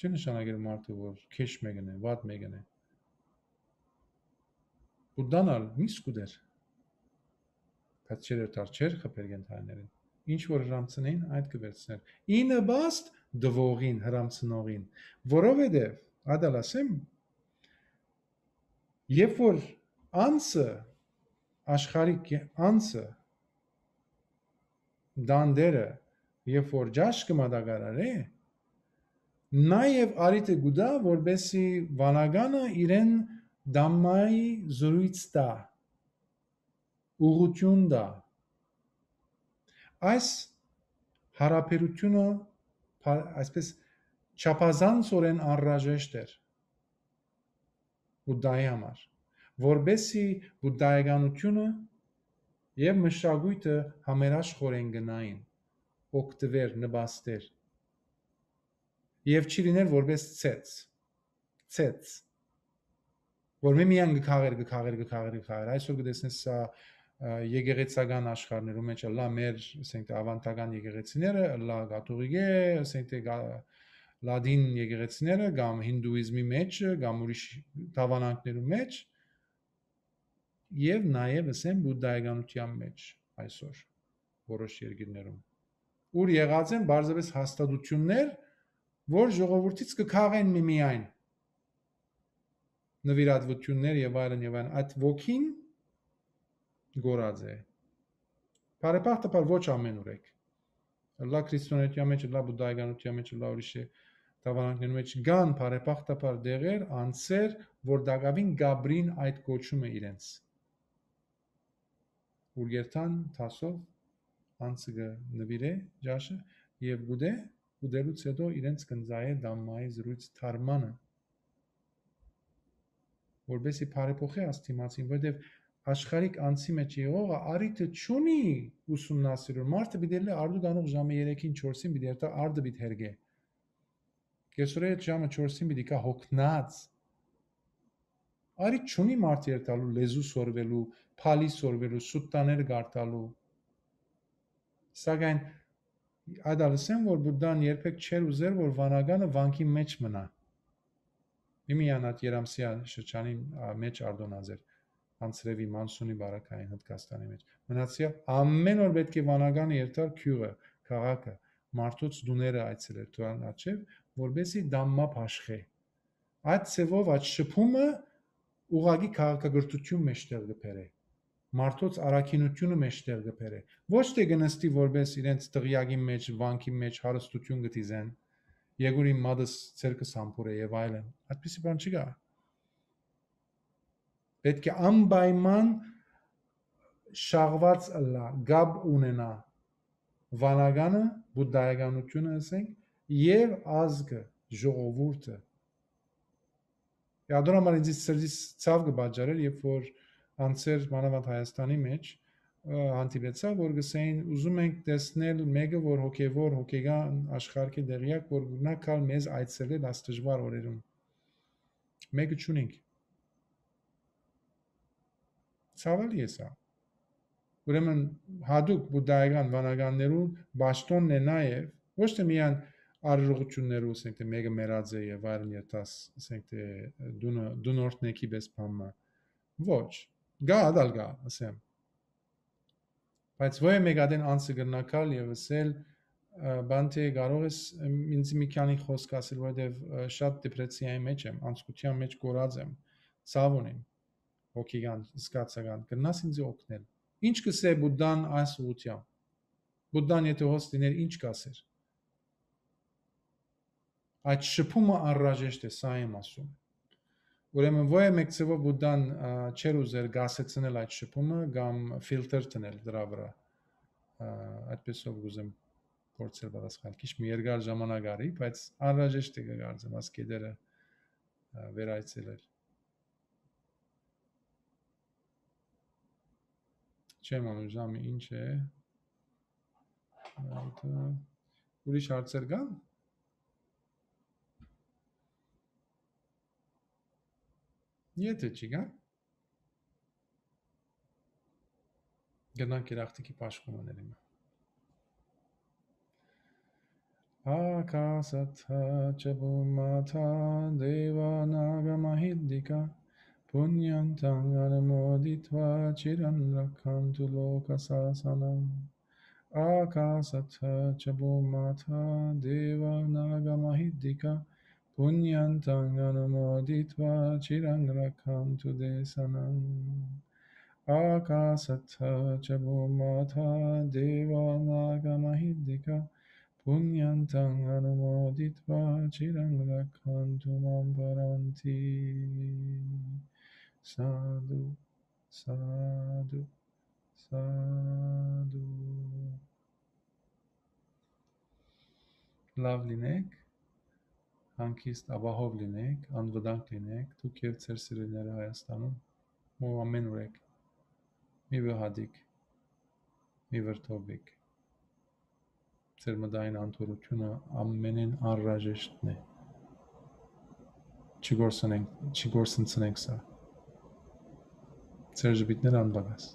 Չի նշանակեր մարդը, որ քեշ մեկն է, վատ մեկն է։ Բուդդան ալ միս կ'ուտէր, բայց չէր երթար, չէր խփեր կենդանիներին։ Ինչ որ հրամցնեին, այդ կը վերցներ։ Ի նպաստ տուողին, հրամցնողին, որովհետեւ, ադալ ասեմ, երբ որ անձը, աշխարհիկ անձը, տանտերը, երբ որ ճաշ կը մատակարարէ, նաեւ առիթը կու տայ, որպեսզի վանականը իրեն Դամմայի զրույց տայ, ուղղութիւն տայ։ Այս յարաբերութիւնը, փա-, այսպես, չափազանցօրէն անհրաժեշտ էր Բուդդայի համար, որպեսզի բուդդայականութիւնը եւ մշակոյթը համերաշխորեն գնային, օգտուեր, նպաստեր, եւ չի լիներ որպես ցեց, ցեց, որ մի միայն կը քաղեր, կը քաղեր, կը քաղեր, կը քաղեր։ Այսօր կը տեսնես սա, ը, եկեղեցական աշխարհներու մեջ, ըլլայ մեր, ասենք, թէ ավանդական եկեղեցիները, ըլլայ կաթողիկէ, ասենք, թէ գա-, լատին եկեղեցիները, կամ հինդուիզմի մեջ, կամ ուրիշ դաւանանքներու մեջ, եւ նաեւ, ասեմ, բուդդայականության մեջ այսօր որոշ երկիրներում, ուր եղած են պարզապես հաստատություններ, որ ժողովուրդից կը քաղեն միմիայն նվիրատվություններ եւ այլն եւ այլն, այդ ոգին գորած է։ Բարեբախտաբար ոչ ամենուրեք։ Ըլլայ քրիստոնեության մեջ, ըլլայ բուդդայականության մեջ, ըլլայ ուրիշ դաւանանքներու մեջ կան բարեբախտաբար դեղեր, անձեր, որ տակաւին կ'ապրին այդ կոչումը իրենց, ուր երթան դասով անձը կը նուիրէ ճաշը եւ գուտէ, ուտելուց հետո իրենց կ'ընծայէ Դամմայի զրույց դարմանը, որպեսզի բարեփոխէ աս դիմացին, որովհետեւ աշխարհիկ անձի մեջ եղողը առիթը չունի ուսումնասիրել։ Մարդը պիտի ելլէ արդու գանող ժամը երեքին, չորսին պիտի երթայ, արդը պիտի հերկէ։ Կեսօրէ հետ ժամը չորսին պիտի գայ հոգնած։ Առիթ չունի մարդ երթալու, լեզու սորվելու, փալի սորվելու, սուտտաները կարդալու։ Սակայն այդ ալ ըսեմ, որ Բուդդան երբեք չէր ուզեր, որ վանականը վանքի մեջ մնայ։ Միմիան այդ Երամսեայ շրջանին, ա, մեջ արտոնած էր, անձրեւի, մանսունի բարակային Հնդկաստանի մեջ։ Մնացեալ ամեն օր պէտք է վանականը երթար գիւղը, քաղաքը, մարդոց տուները այցելեր դրան առջեւ, որպեսզի Դամմա բաշխէ։ Այդ ձևով, այդ շփումը ուղղակի քաղաքակրթութիւն մէջտեղ կը բերէ, մարդոց առաքինութիւնը մէջտեղ կը բերէ։ Ոչ թէ կը նստի որպէս իրենց տղեակին մէջ, վանքին մէջ հարստութիւն կը դիզեն, «Եկուր իմ մատս ձեռքս համբուրէ» եւ այլն։ Այդպիսի բան չկայ։ Պէտք է անպայման շաղուած ըլլայ, կապ ունենայ վանականը, բուդդայականութիւնը, ըսենք, եւ ազգը, ժողովուրդը։ Ատոր համար ինձ սրտիս ցաւ կը պատճառէր, երբ որ անցեր, մանաւանդ Հայաստանի մէջ, ը, հանդիպեցայ, որ կ'ըսէին, «Ուզում ենք տեսնել մէկը, որ հոգեւոր, հոգեկան աշխարհ կը տեղեակ, որ կրնայ գալ մեզ այցելել այս դժուար օրերուն»։ Մէկը չունինք։ Ցաւալի է սա։ Ուրեմն յատուկ բուդդայական վանականներու պաշտօնն է նաեւ ոչ թէ միայն արարողութիւններու, ասենք թէ մէկը մեռած է եւ այլն, երթաս, ասենք թէ դունը, դուն օրհնեքի պես բան մը։ Ոչ, գա, ատալ գա, ասեմ։ Բայց ոյ մէկ ատեն անցը կրնայ գալ եւ ըսել, ը, «Բանտէ, կարող ես, ըմ, ինձ մի քանի խօսք ասել, որովհետեւ, ը, շատ դեպրեսիայի մէջ եմ, անցկության մէջ կորած եմ, ցաւ ունեմ, հոգեկան, զգացական, կրնաս ինձ օգնել»։ Ինչ կ'ըսէ Բուդդան այս ուղղութեամբ։ Բուդդան եթէ հոս լիներ, ինչ կ'ասէր։ Այդ շփումը անհրաժեշտ է, սա եմ ասում։ Ուրեմն, ոյ մէկ ձեւով Բուդդան, ա, չէր ուզեր գասեցնել այդ շփումը կամ ֆիլտր դնել դրա վրա։ Ա, այդպեսով կ'ուզեմ փորձել պատասխան։ Քիչ մի երկար ժամանակ արի, բայց անհրաժեշտ է կը կարծեմ այս կետերը, ա, վերայցելել։ Չեմ անում ժամը ինչ է։ Այդ, ա, ուրիշ հարցեր կան։ Եթե չկա, գնանք երախտիկի պաշտոնը ներիմը։ Ակասատթա ճ բումմաթա դեվա նագա մահիդդիկա, փունյանտան անմոդիտվա, չիրան ռաքքանտու լոկա սասանա։ Ակասատթա ճ բումմաթա դեվա նագա մահիդդիկա, փունյանտան անմոդիտվա, չիրան ռաքքանտու դեսանա։ Ակասատթա ճ բումմաթա դեվա նագա մահիդդիկա, փունյանտան անմոդիտվա, չիրան ռաքքանտու մամպարանտի։ Սադու, սադու, սադու։ Լաւ լինէք, հանգիստ, ապահով լինէք, անվտանգ լինէք, դուք եւ ձեր սիրելիները Հայաստանում, ու ամէն ուր եք։ Մի վհատիք, մի վրդովվիք։ Ձեր մտային անդորրութիւնը ամենէն անհրաժեշտն է։ Չգործնենք, չգործնցնենք սա։ Ձեր ժպիտները անպակաս։